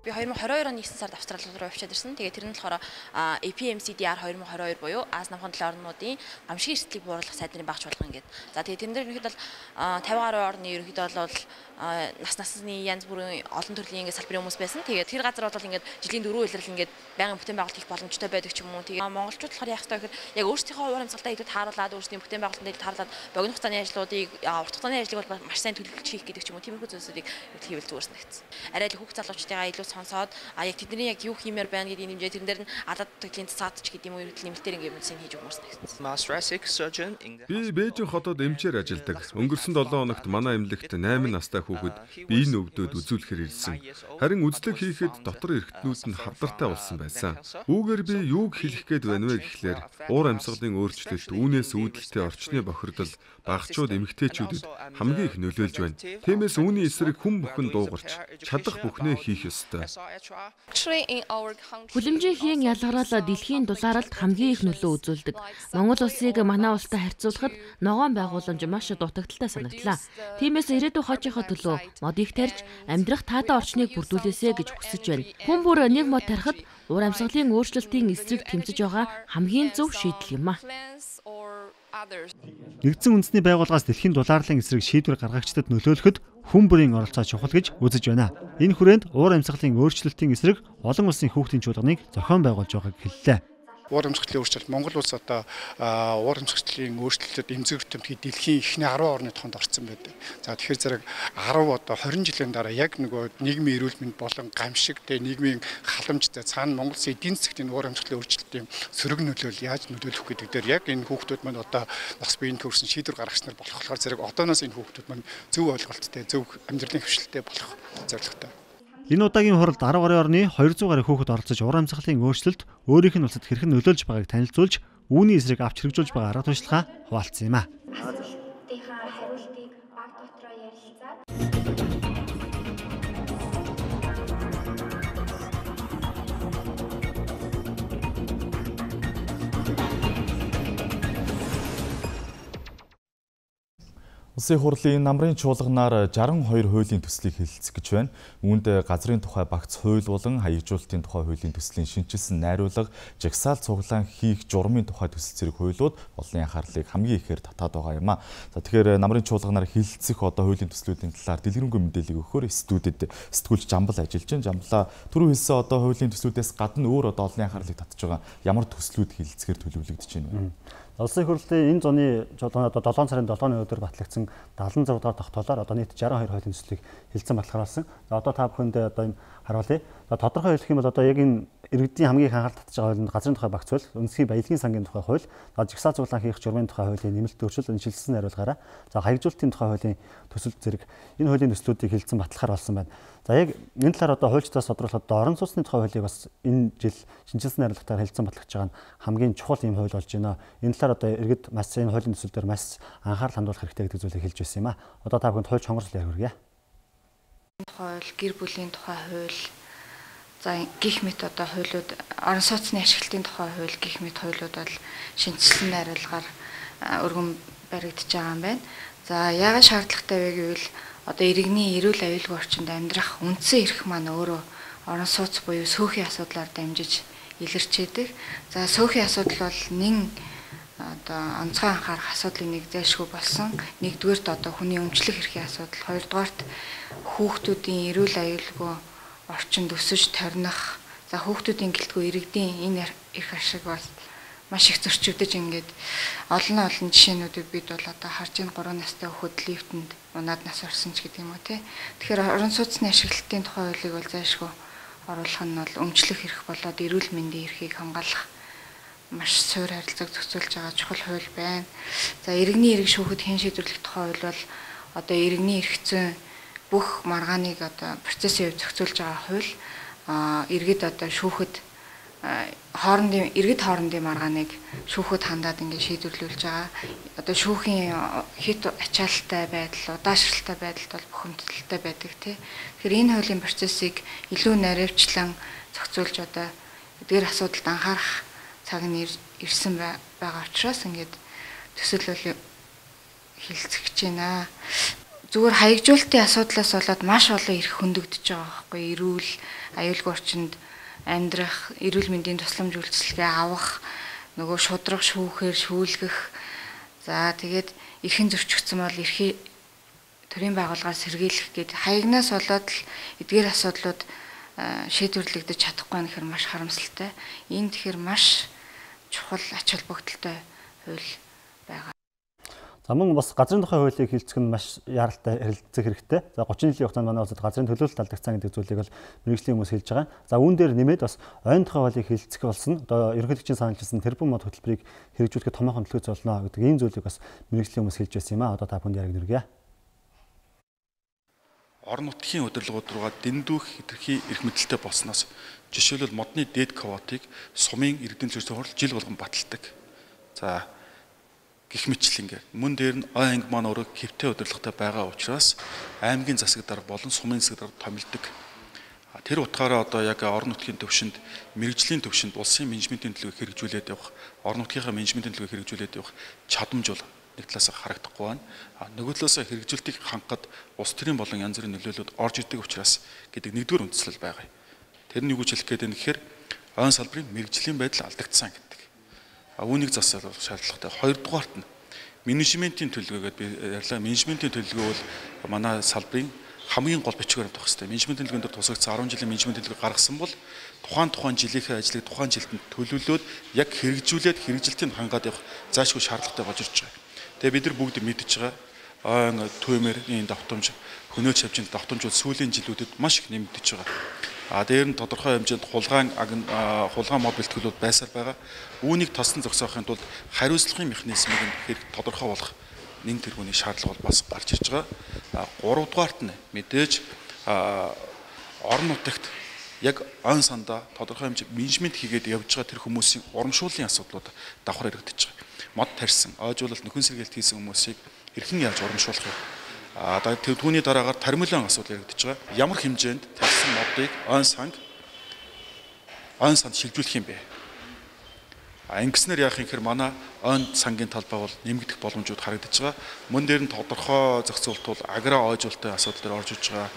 Би two thousand twenty-two оны ninth сард Австрали руу явчихад ирсэн. Тэгээд тэр нь болохоор A P M C D R twenty twenty-two буюу Аз намхан талын орнуудын гамшигын эрсдлийг бууруулах сайдны багш болгох ингээд. За тэгээд тэрэн дээр ерөнхийдөө fifty гаруй орны ерөнхийдөө бол нас насны янз бүрийн олон төрлийн ингээд салбарын хүмүүс байсан. Тэгээд тэр газар бол ингээд жилийн дөрөв үйлрэл ингээд байнгын бүтээн байгуулалт хийх боломжтой байдаг ч юм уу. Тэгээд монголчууд болохоор яах вэ гэхээр яг өөрсдийнхөө уур амьсгалаа илүү тааруулаад өөрсдийн бүтээн байгуулалтанд илүү тааруулаад богино хугацааны ажлуудыг урт хугацааны ажлыг бол маш сайн төлөвлөж хийх гэдэг ч юм уу. Тиймэрхүү зүйлсүүдийг хийвэл зүгээр санагдсан. Арай л хүүхд залуучдаа илүү сонсоод а яг тэдний яг юу хиймээр байна гэдэг нэмжээ тэрэн дээр нь адад төдлийн цаадч гэдэг юм уу ерөнхийдөө нэмэлтээр ингээд мэдсэн хийж өгмөрс нэгсэн. Би Бээжин хотод эмчээр ажилладаг. Өнгөрсөн seven хоногт манай эмнэлэгт eight настай хүүхэд биеийн өвдөд үзүүлэхээр ирсэн. Харин үзлэг хийхэд дотор эрхтнүүд нь хавдартай болсон байсан. Үүгээр би юуг хэлэх гээд байна вэ гэхлээр уур амьсгалын өөрчлөлт, үүнээс үүдэлтэй орчны бохирдол багчууд эмэгтэйчүүдэд хамгийн их нөлөөлж байна. Тиймээс үүний эсрэг хүн бүхэн дуугарч чадах бүхнээ хийх ёстой. Хүлэмжийн ялгараал дэлхийн дулаалд хамгийн их нөлөө үзүүлдэг. Монгол улсыг манай улстай харьцуулахад ногоон байгууламж маш дутагдaltaй санагдлаа. Тиймээс ирээдүйн хойчийнхоо төлөө модыг тарьж амьдрах таатай орчныг бүрдүүлээсэ гэж хүсэж байна. Хүн бүр нэг мод тарихад уур амьсгалын өөрчлөлтийн эсрэг тэмцэж байгаа хамгийн зөв шийдэл юм а. Нэгдсэн үндэсний байгууллагаас дэлхийн дулаарлын эсрэг шийдвэр гаргагчдад нөлөөлөхөд хүн бүрийн оролцоо чухал гэж үзэж байна. Энэ хүрээнд уур амьсгалын өөрчлөлтийн эсрэг олон улсын хүүхдийн чуулганыг зохион байгуулж байгааг хэллээ. Уур амьсгалын өөрчлөлт Монгол улс одоо уур амьсгалын өөрчлөлтөд эмзэг томтгий дэлхийн эхний ten орны тоонд орсон байдаг. За тэгэхээр зэрэг ten одоо twenty жилийн дараа яг нөгөө нийгмийн эрүүл мэнд болон гамшиг тэ нийгмийн халамж цаана Монгол улсын эдийн засгийн уур амьсгалын өөрчлөлтийн сөрөг нөлөөл яаж нөлөөлөх гэдэг дээр яг энэ хүүхдүүд маань одоо бас биеийн төрсэн шийдвэр гаргагч нар болох болохоор зэрэг одооноос энэ хүүхдүүд маань зөв ойлголттой, зөв амьдралын хөвшилтэй болох зорилготой. Энэ удаагийн хуралд ten гаруй орны two hundred гаруй хүүхэд оролцож уур амьсгалын өөрчлөлт өөрийнх нь улсад хэрхэн нөлөөлж байгааг танилцуулж, үүний эсрэг авч хэрэгжүүлж байгаа арга туршлагаа хуваалцсан юм а. Улсын хурлын намрын чуулганаар sixty-two хуулийн төслийг хэлэлцэх гэж байна. Үүнд газрын тухай багц хууль болон хаягжуулалтын тухай хуулийн төслийн шинжилсэн найруулга, жагсаал цуглаан хийх журмын тухай төсөл зэрэг хуулиуд олонний анхаарлыг хамгийн ихээр татаад байгаа юм а. За тэгэхээр намрын чуулганаар хэлэлцэх одоо хуулийн төслүүдийн талаар дэлгэрэнгүй мэдээлэл өгөхөөр студид сэтгүүлч Жамбал ажиллаж байна. Жамблаа түрүү хэлсэн одоо хуулийн төслүүдээс гадна өөр одоо олонний анхаарлыг татж байгаа ямар төслүүд хэлэлцэхээр төлөвлөгдөж байна вэ? Улсын хурлын энэ зуны чуулганд одоо seven сарын seven өдөр батлагдсан seventy-six дугаар тогтоолоор одоо нийт sixty-two хуулийн төслийг хэлэлцэн баталгаруулсан. За одоо та бүхэнд одоо энэ харуулъя. За тодорхой хэлэх юм бол одоо яг энэ иргэдийн хамгийн их анхаарал татж байгаа хууль нь газрын тухай багц хууль, үндэсний баялагын сангийн тухай хууль, за жагсаал цуглаан хийх журмын тухай хуулийн нэмэлт өөрчлөлт энэ шилжсэн найруулгаараа за хаягжуулалтын тухай хуулийн төсөл зэрэг энэ хуулийн төслүүдийг хэлэлцэн баталгаар болсон байна. За яг энэ талаар одоо хуульчдаас тодруулахад одоо орон сууцны тухай хуулийг бас энэ жил шинжилсэн найруулгатаар хэлэлцэн батлагдж байгаа нь хамгийн чухал юм хууль болж байна. Энэ талаар одоо иргэд маш энэ хуулийн төсөл дээр маш анхаарал хандуулах хэрэгтэй гэдэг зүйлийг хэлж байсан юм а. Одоо та бүхэнд хууль чонгорсол ярих хүргье. Хууль, гэр бүлийн тухай хууль, за гих мэт одоо хуулиуд, орон сууцны ашиглалтын тухай хууль гих мэт хуулиуд бол шинжилсэн найруулгаар өргөн баригдаж байгаа юм байна. За яагаад шаардлагатай вэ гэвэл одоо иргэний эрүүл аюулгүй орчинд амьдрах үндсэн эрх маань өөрөө орон сууц буюу сөөхийн асуудлаар дамжиж илэрчээдэг. За сөөхийн асуудал бол нэн одоо онцгой анхаарах асуудлын нэг зайлшгүй болсон. Нэгдүгээрт одоо хүний өмчлөх эрхийн асуудал, хоёрдугаарт хүүхдүүдийн эрүүл аюулгүй орчинд өсөж торних, за хүүхдүүдийн гэлтгүй иргэдийн энэ эрх ашиг бол маш их зөрчигдөж ингээд олон олон жишээнүүдийг бид бол одоо харж ин three настай хүүхэд лифтэнд унаад нас орсон ч гэдэг юм уу тий. Тэгэхээр орон сууцны ашиглалтын тухай хуулийг бол зайлшгүй оруулах нь бол өмчлөх эрх болоод эрүүл мэндийн эрхийг хамгаалах маш суур харилцааг зохицуулж байгаа чухал хууль байна. За иргэний эрх шүүхэд хэн шийдвэрлэх тухай хууль бол одоо иргэний эрх зүйн бүх маргааныг одоо процессын хувьд зохицуулж байгаа хууль. А иргэд одоо шүүхэд хоорондын иргэд хоорондын маргааныг шүүхэд хандаад ингээд шийдвэрлүүлж байгаа. Одоо шүүхийн хит ачаалттай байдал, удаашралтай байдалд бол бухимдалтай байдаг тий. Тэгэхээр энэ хуулийн процессыг илүү наривчлан зохицуулж одоо эдгээр асуудалд анхаарах цаг нь ирсэн байгаа учраас ингээд төсөөлөл хилцэж байна. Зүгээр хаягжуулалтын асуудлаас болоод маш олон эрх хөндөгдөж байгаа байхгүй. Эрүүл, аюулгүй орчинд амьдрах, эрүүл мэндийн тусламж үйлчилгээ авах, нөгөө шудрах, шүүхээр, шүүлгэх. За тэгээд эрхэн зөрчигдсөн бол эрхээ төрийн байгууллагаас сэргийлэх гээд хаягнаас болоод л эдгээр асуудлууд шийдвэрлэгдэж чадахгүй нь гэхээр маш харамсалтай. Энэ тэгэхээр маш чухал ач холбогдолтой хууль байгаа. За мөн бас газрын тухай хуулийг хилцэх нь маш яралтай харилцах хэрэгтэй. За гучин жилийн хугацаанд манай улсад газрын төлөөлөлт алдагдсан гэдэг зүйлийг бол мэргэжлийн хүмүүс хэлж байгаа. За үүн дээр нэмээд бас ойн тухай хуулийг хилцэх болсон. Одоо ерөнхийлөгчийн саналжилсан тэрбум мод хөтөлбөрийг хэрэгжүүлэхэд томоохон төлөвлөж болно гэдэг ийм зүйлийг бас мэргэжлийн хүмүүс хэлж байсан юм аа. Одоо та бүхэнд яриг нэргье. Орон нутгийн удирдлагууд руугаа дэндүүх хэтэрхий эрх мэдэлтэй болсноос жишээлбэл модны дээд квотыг сумын иргэдийн зөвлөсөн хурал жил болгон баталдаг. За гэх мэтлэн ингээд мөн дээр нь ой анги маань өөрөө хэвтэй удирдлагатай байгаа учраас аймгийн засаг дарга болон сумын засаг дарга томилдог. Тэр утгаараа одоо яг орон нутгийн төвшөнд мэрэгжлийн төвшөнд улсын менежментийн төлөвийг хэрэгжүүлээд явах, орон нутгийнхаа менежментийн төлөвийг хэрэгжүүлээд явах чадамж бол нэг талаас харагдахгүй байна. А нөгөө талаас хэрэгжүүлэлтийг хангахад улс төрийн болон янз бүрийн нөлөөллүүд орж ирдэг учраас гэдэг нэгдүгээр үндслэл байгаа. Тэр нь юу гэж хэлэх гээд байна гэхээр ойн салбарын мэрэгжлийн байдал алдагдсан гэдэг. А үүнийг засах шаардлагатай. Хоёрдугаарт нь менежментийн төлөвлөгөөгээд би ярьлаа. Менежментийн төлөвлөгөө бол манай салбарын хамгийн гол бичгээр авах хэрэгтэй. Менежментийн төлөвлөгөөнд тусгагдсан арван жилийн менежментийн төлөвлөгөө гаргасан бол тухайн тухайн жилийнхээ ажлыг тухайн жилд төлөвлөлөөд яг хэрэгжүүлээд хэрэгжилтийг хангаад явах заашгүй шаардлагатай болж ирж байгаа. Тэгээ бид нар бүгд мэдж байгаа ойн төвмөрийн давтамж, хөнөөч хавжин давтамжууд сүүлийн жилүүдэд маш их нэмэгдэж байгаа. А дээр нь тодорхой хэмжээнд хулгайн хулгайн мод бэлтгэлүүд байсаар байгаа. Үүнийг тослон зогсоохын тулд хариуцлагын механизмыг хэрэг тодорхой болох нэн тэргүүний шаардлага бол бас гарч ирж байгаа. Гуравдугаарт нь мэдээж орон нутагт яг он сандаа тодорхой хэмжээ менежмент хийгээд явж байгаа тэр хүмүүсийн урамшууллын асуудлууд давхар яригдчихэж байгаа. Мод тарьсан, ойжуулалт нөхөн сэргээлт хийсэн хүмүүсийг хэрхэн яаж урамшуулах вэ? А түүний дараагаар таримлын асуудал яригдчихэж байгаа. Ямар хэмжээнд тарьсан модыг он санг он санд шилжүүлэх юм бэ? А ингэснээр яах юм хэр манай он сангийн талбай бол нэмэгдэх боломжууд харагдаж байгаа. Мөн дээр нь тодорхой зохицуулт бол агро ойжуулалтын асуудал дээр орж иж байгаа.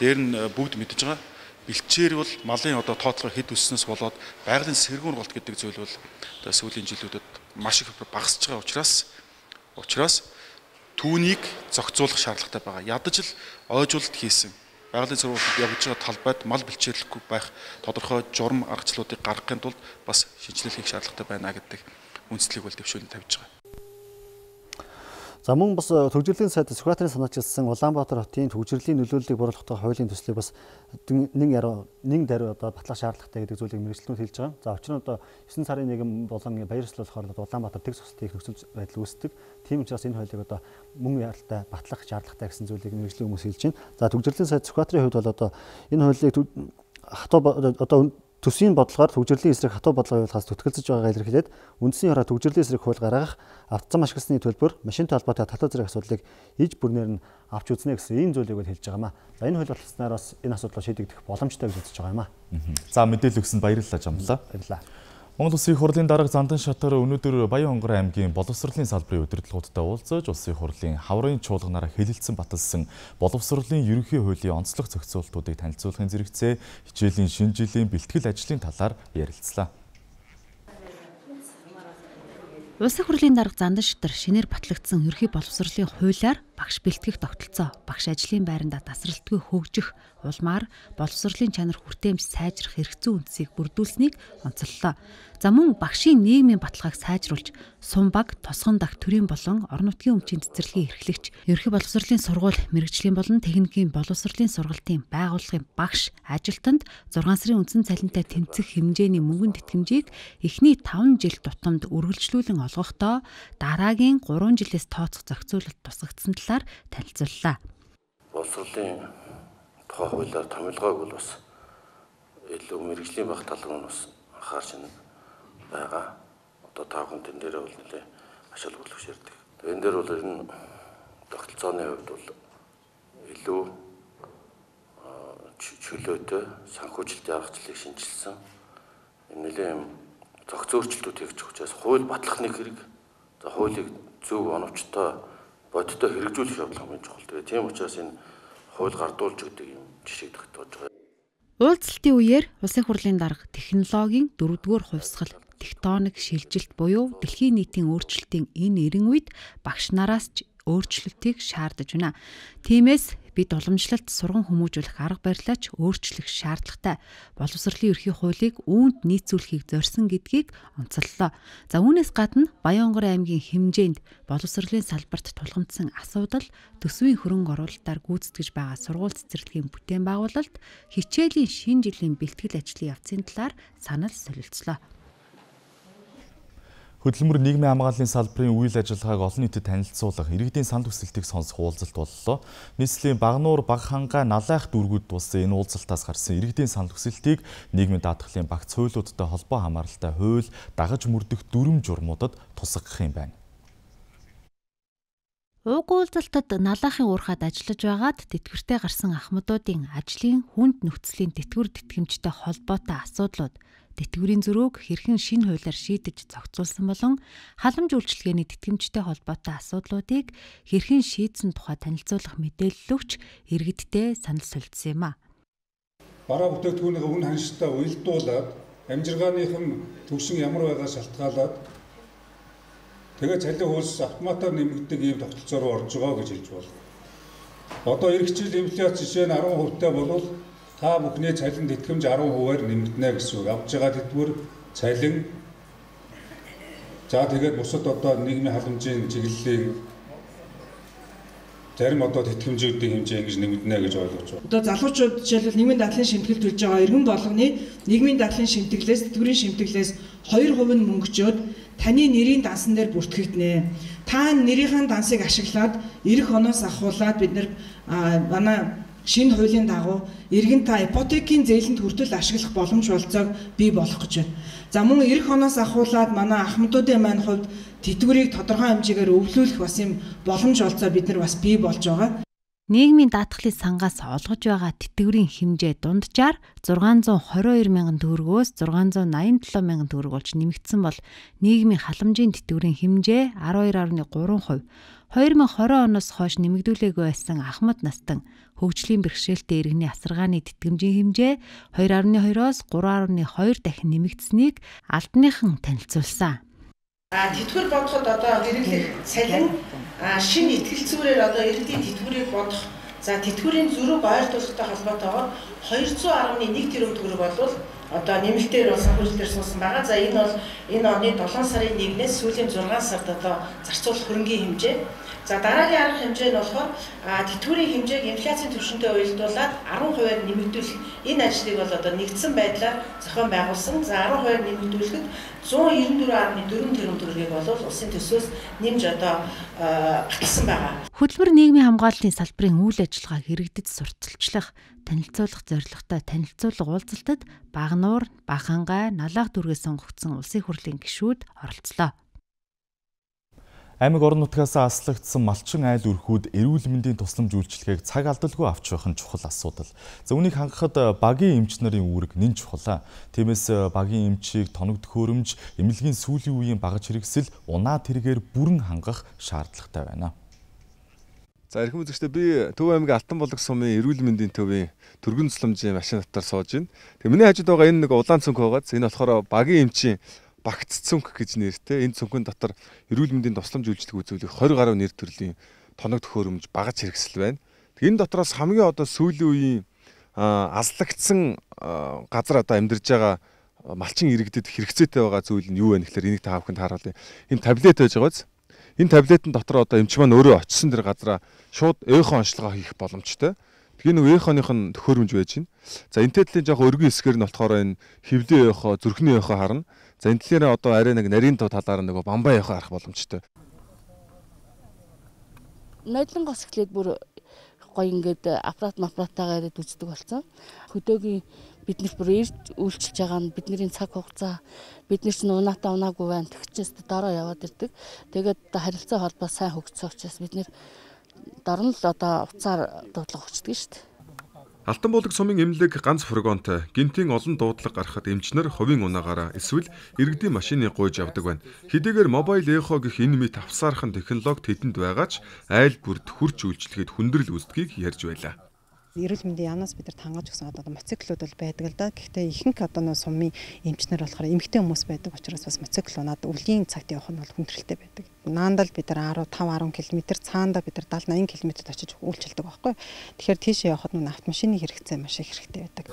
Дээр нь бүгд мэдж байгаа. Бэлчээр бол малын одоо тооцоо хэд өсснөөс болоод байгалийн сэргүүн голт гэдэг зүйл бол одоо сүүлийн жилүүдэд маш их багасж байгаа учраас учраас түүнийг зохицуулах шаардлагатай байгаа. Ядаж л ойжуулалт хийсэн байгалийн сургуульд явж байгаа талбайд мал бэлчээрлэхгүй байх тодорхой журам аргачлалуудыг гаргахын тулд бас шинжилэл хийх шаардлагатай байна гэдэг үндслийг бол дэвшүүлэн тавьж байгаа. За мөн бас төвжирлийн сайд Сүхбаатарын санаачилсан Улаанбаатар хотын төвжирлийн нөлөөллийг бууруулах хуулийн төслийг бас нэг яруу нэг даруй одоо батлах шаардлагатай гэдэг зүйлийг мэргэжлүүд хэлж байгаа. За учир нь одоо есөн сарын нэгэн болон баяр ёслолохоор Улаанбаатар тэгс цусны нөхцөл байдал үүсдэг. Тийм учраас энэ хуулийг одоо мөн яралтай батлах шаардлагатай гэсэн зүйлийг мэргэжлийн хүмүүс хэлж байна. За төвжирлийн сайд Сүхбаатарын хувьд бол одоо энэ хуулийг хатуу одоо төсвийн бодлогоор төвжирлийн эсрэг хатуу бодлого явуулахаас зүтгэлцэж байгаагаа илэрхийлээд үндсний хараа төвжирлийн эсрэг хууль гаргах, автозан ашигласны төлбөр, машинтай холбоотой татвар зэрэг асуудлыг иж бүрнээр нь авч үзнэ гэсэн ийм зүйлийг бол хэлж байгаа юм а. За энэ хууль болсноор бас энэ асуудлыг шийдэгдэх боломжтой гэж үзэж байгаа юм а. За мэдээлэл өгсөнд баярлалаа Жамлаа. Баярлалаа. Монгол Улсын хурлын дарга Зандан Шатар өнөөдөр Баян-Хонгор аймгийн боловсролын салбарын удирдлагуудтай уулзаж Улсын хурлын хаврын чуулганаараа хэлэлцэн баталсан боловсролын ерөнхий хуулийн онцлог зохицуултуудыг танилцуулахын зэрэгцээ хичээлийн шинэ жилийн бэлтгэл ажлын талаар ярилцлаа. Улсын хурлын дарга Зандан Шатар шинээр батлагдсан ерөнхий боловсролын хуулиар багш бэлтгэх тогтолцоо, багш ажлын байранда тасралтгүй хөгжих, улмаар боловсролын чанар хүртээмж сайжрах эрх зүйн үндсийг бүрдүүлсэнийг онцоллоо. За мөн багшийн нийгмийн баталгааг сайжруулж, сум баг, тосгон дах төрийн болон орон нутгийн өмчийн цэцэрлэгийн эрхлэгч, ерөнхий боловсролын сургууль, мэрэгжлийн болон техникийн боловсролын сургалтын байгууллагын багш ажилтнанд зургаан сарын үндсэн цалинтай тэнцэх хэмжээний мөнгөнд тэтгэмжийг эхний таван жил тутамд үргэлжлүүлэн олгохдоо дараагийн гурван жилээс тооцох зохицуулалт тусгагдсан талаар танилцууллаа. Боловсролын тухай хуулиар томилгоог бол бас илүү мэрэгжлийн баг тал руу бас анхаарч байгаа. Одоо та бүхэн тэн дээр бол нэлээ ашиг болгож ярьдаг. Энэ дээр бол энэ тогтолцооны хувьд бол илүү чөлөөтэй санхүүжилт аргачлалыг шинжилсэн. Энэ нэлээ зохиц өөрчлөлтүүд хийж байгаа учраас хууль батлах нэг хэрэг. За хуулийг зөв оновчтой бодиттой хэрэгжүүлэх явдал хамгийн чухал. Тэгээ тийм учраас энэ хууль гардуулж гэдэг юм жишээ тогтоож байгаа. Уулзалтын үеэр улсын хурлын дарга технологийн дөрөвдүгээр хувьсгал тектоник шилжилт буюу дэлхийн нийтийн өөрчлөлтийн энэ эрен үед багш нараас ч өөрчлөлтийг шаардаж байна. Тиймээс бид уламжлалт сурган хүмүүжүүлэх арга барилаач өөрчлөх шаардлагатай. Боловсролын ерхий хуулийг үүнд нийцүүлэхийг зорьсон гэдгийг онцоллоо. За үүнээс гадна Баянгор аймгийн хэмжээнд боловсролын салбарт тулгамдсан асуудал, төсвийн хөрөнгө оруулалтаар гүйцэтгэж байгаа сургууль цэцэрлэгийн бүтээн байгуулалт, хичээлийн шинэ жилийн бэлтгэл ажлын явцын талаар санал солилцлоо. Хөдөлмөр нийгмийн хамгааллын салбарын үйл ажиллагааг олон нийтэд танилцуулах иргэдийн санд хүсэлтийг сонсох уулзалт боллоо. Нийслэлийн Багнуур, Багхангай, Налайх дүүргүүд тулсан энэ уулзалтаас гарсан иргэдийн санд хүсэлтийг нийгмийн даатгалын багц хуйлуудтай холбоо хамааралтай хууль дагаж мөрдөх дүрм журмуудад тусгах юм байна. Уг уулзалтад Налайхын уурхад ажиллаж байгаад тэтгэвртэй гарсан ахмадуудын ажлын хүнд нөхцөлийн тэтгэвэр тэтгэмжтэй холбоотой асуудлууд, тэтгэврийн зөрүүг хэрхэн шинэ хуулиар шийдэж зохицуулсан болон халамж үйлчилгээний тэтгэмжтэй холбоотой асуудлуудыг хэрхэн шийдсэн тухай танилцуулах мэдээлэл өгч иргэдтэй санал солилцсон юм а. Бараа бүтээгдэхүүнийхээ үн ханшилтаа уялдуулаад амжиргааных нь төвшин ямар байгаа шалтгаалаад тэгээ цалин хөлс автоматар нэмэгддэг ийм тогтолцоо руу орж байгаа гэж хэлж байна. Одоо эх жил инфляц жишээ нь арван хувьтай болвол та бүхний цалин тэтгэмж арван хувиар нэмэгдэнэ гэсэн үг. Авж байгаа тэтгэвэр цалин за тэгээд бусад одоо нийгмийн халамжийн чиглэлийн зарим одоо тэтгэмжүүдийн хэмжээ ингэж нэмэгдэнэ гэж ойлгож байна. Одоо залуучууд жишээлбэл нийгмийн дадлын шимтгэлд төлж байгаа иргэн болгоны нийгмийн дадлын шимтгэлээс тэтгэврийн шимтгэлээс хоёр хувь нь мөнгөжөөд таны нэрийн дансан дээр бүртгэгдэнэ. Та нэрийн дансыг ашиглаад эх оноос ахуулаад бид нар манай шинэ хуулийн дагуу иргэн та ипотекийн зээлэнд хүртэл ашиглах боломж болцоог бий болгох гэж байна. За мөн эх оноос ахуулаад манай ахмадуудын маань хувьд тэтгэврийг тодорхой хэмжээгээр өвлүүлэх бас юм боломж олцоо бид нар бас бий болж байгаа. Нийгмийн даатгалын сангаас олгож байгаа тэтгэврийн хэмжээ дунджаар зургаан зуун хорин хоёр мянган төгрөгөөс зургаан зуун найман долоо мянган төгрөг болж нэмэгдсэн бол нийгмийн халамжийн тэтгэврийн хэмжээ арван хоёр гаруй гурван хувь. хоёр мың двадцать оноос хойш нэмэгдүүлээгүй байсан ахмад настан хөгжлийн бэрхшээлтэй иргэний асаргааны тэтгэмжийн хэмжээ хоёр гаруй двоёроос гурван гаруй хоёр дахин нэмэгдсэнийг албаныхан танилцуулсан. А тэтгэвэр бодоход одоо хэрэглэх цалин шинэ итгэл зүйрээр одоо иргэдийн тэтгэврийг бодох. За тэтгэврийн зөрүүг ойртуулахтай холбоотойгоор двести один тэрбум төгрөг болвол одоо нэмэлтээр бол санхүүжилтээр суусан байгаа. За энэ бол энэ оны долоон сарын нэгнээс сүүлийн зургаан сард одоо зарцуулах хөрөнгийн хэмжээ. За дараагийн арга хэмжээ нь болохоор тэтгэврийн хэмжээг инфляцийн түвшинтэй уялдуулаад арван хувиар нэмэгдүүлэх энэ ажлыг бол одоо нэгдсэн байдлаар зохион байгуулсан. За арван хувиар нэмэгдүүлэхэд зуун девяносто четыре гаруй дөрвөн тэрбум төгрөгийг бол улсын төсвөөс нэмж одоо баталсан байгаа. Хөдөлмөр нийгмийн хамгааллын салбарын үйл ажиллагааг иргэдэд сурталчлах, танилцуулах зорилготой танилцуулга уулзалтад Багнуур, Багхангай, Налайх дүүргээс сонгогдсон улсын хурлын гишүүд оролцлоо. Аймаг орон нутгаас аслагдсан малчин айл өрхүүд эрүүл мэндийн тусламж үйлчилгээг цаг алдалгүй авч явах нь чухал асуудал. За үүнийг хангахад багийн эмч нарын үүрэг нэн чухал. Тиймээс багийн эмчийг тоног төхөөрөмж, эмнэлгийн сүүлийн үеийн багаж хэрэгсэл, унаа тэргээр бүрэн хангах шаардлагатай байна. За эрхэм үзэгчдээ би Төв аймгийн Алтан болог сумын эрүүл мэндийн төвийн түргэн цэцлэмжийн машин дотор сууж байна. Тэгээ миний хажууд байгаа энэ нэг улаан цүнх байгааз энэ болохоор багийн эмчийн багц цүнх гэж нэртэй. Энэ цүнхэн дотор эрүүл мэндийн тусламж үйлчлэг үзүүлэх двадцать гаруй нэр төрлийн тоног төхөөрөмж багаж хэрэгсэл байна. Тэгээ энэ дотроос хамгийн одоо сүүлийн үеийн аслагдсан газар одоо амьдарж байгаа малчин иргэдэд хэрэгцээтэй байгаа зүйл нь юу вэ гэхээр энийг та бүхэнд харуулъя. Энэ таблет байж байгааз. Энэ таблетын дотор одоо эмч маань өөрөө очисон дэр газараа шууд эхо онцлогоо хийх боломжтой. Тэгээ нэг эхоных нь төхөөрөмж байж байна. За энэ тэдлийн жоох өргөн хэсгээр нь болохоор энэ хөвлийн эхо, зүрхний эхо харна. За энэ тэлээр одоо арай нэг нарийн тав талаар нэг бамбай эхо харах боломжтой. Нойлон гос эхлээд бүр гоё ингээд аппарат аппаратаагаар ирээд үздэг болсон. Хөдөөгийн биднэрт бүр эрт үйлчилж байгаа нь бидний цаг хугацаа бид нар ч унаатаа унаагүй байна. Тэгчээс дараа яваад ирдэг. Тэгээд харилцаа холбоо сайн хөгжсөн учраас бид нэр дорн л одоо уцаар дуудлага өгчдөг шүү дээ. Алтан буулаг сумын эмнэлэг ганц фургонтой гинтийн олон дуудлага гарахад эмчнэр хувийн унаагаараа эсвэл иргэдийн машины гуйж явдаг байна. Хэдийгээр мобайл эхо гэх энэ мэт авсаархан технологи тэдэнд байгаа ч айл бүрд хурц үйлчлэхэд хүндрэл үүсдгийг ярьж байлаа. Эрүүл мэндийн яамнаас бид нар тангаж өгсөн одоо моциклууд бол байдаг л да. Гэхдээ ихэнх одоо нөө сумын эмчнэр болохоор эмэгтэй хүмүүс байдаг учраас бас моцикл унаад өвлийн цагт явах нь бол хүндрэлтэй байдаг. Наандал бид нар десять гаруй км цаанда бид нар седемдесет восемьдесят км очиж үйлчилдэг байхгүй. Тэгэхээр тийшээ явахад нөө автомашины хэрэгцээ маш их хэрэгтэй байдаг.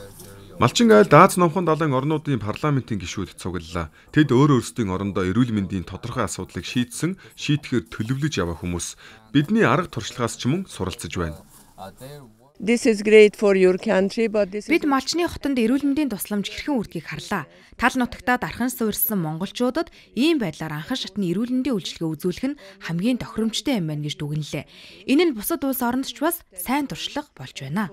Малчин айл Дааз номхон далайн орнуудын парламентын гишүүд цуглалаа. Тэд өөр өөрсдийн орондоо эрүүл мэндийн тодорхой асуудлыг шийдсэн, шийдэхээр төлөвлөж яваа хүмүүс бидний арга туршлагаас ч мөн суралцж байна. This is great for your country, but this Бид малчны хотонд эрүүл мэндийн тусламж хэрхэн үрдгийг харлаа. Тал нутагтаа дархан суурьсан монголчуудад ийм байдлаар анхан шатны эрүүл мэндийн үйлчилгээ үзүүлэх нь хамгийн тохиромжтой юм байна гэж дүгнэлээ. Энэ нь бусад улс оронд ч бас сайн туршлага болж байна.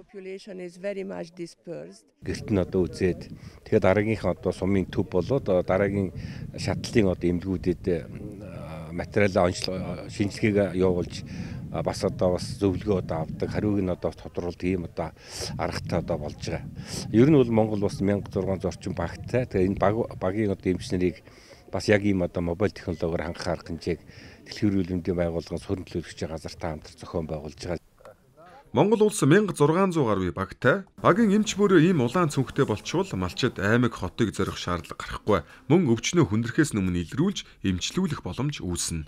Гэрт нь одоо үзээд тэгээд дараагийнх одоо сумын төв болоод дараагийн шатлалын одоо эмнэлгүүдэд материалаа шинжилгээг явуулж бас одоо бас зөвлөгөө одоо авдаг, хариуг нь одоо тодруулалт ийм одоо аргатай одоо болж байгаа. Ер нь бол Монгол бас мянга зургаан зорчин багтай. Тэгээ энэ багийн одоо эмчнэрийг бас яг ийм одоо мобайл технологиор хангах арга хэмжээг дэлхийн эрүүл мэндийн байгууллагын суурин төлөөлөгчийн газартай хамтар зохион байгуулж байгаа. Монгол улс мянга зургаан зуун гаруй багтай. Багийн эмч бүрөө ийм улаан цүнхтэй болчихвол малчид аймаг хотыг зорих шаардлага гарахгүй. Мөн өвчнөө хүндрхээс өмнө илрүүлж эмчлүүлэх боломж үүснэ.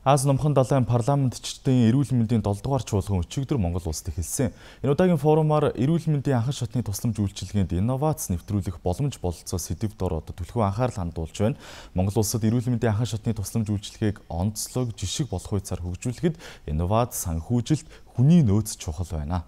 Аз номхон далайн парламентчдын эрүүл мэндийн долоо дугаар чуулган өчигдөр Монгол улсад эхэлсэн. Энэ удаагийн форумаар эрүүл мэндийн анхан шатны тусламж үйлчилгээнд инновац нэвтрүүлэх боломж бололцоо сэдвд ороод түлхүү анхаарал хандуулж байна. Монгол улсад эрүүл мэндийн анхан шатны тусламж үйлчилгээг онцлог жишг болох хуйцаар хөгжүүлэхэд инновац санхүүжилт хүний нөөц чухал байна.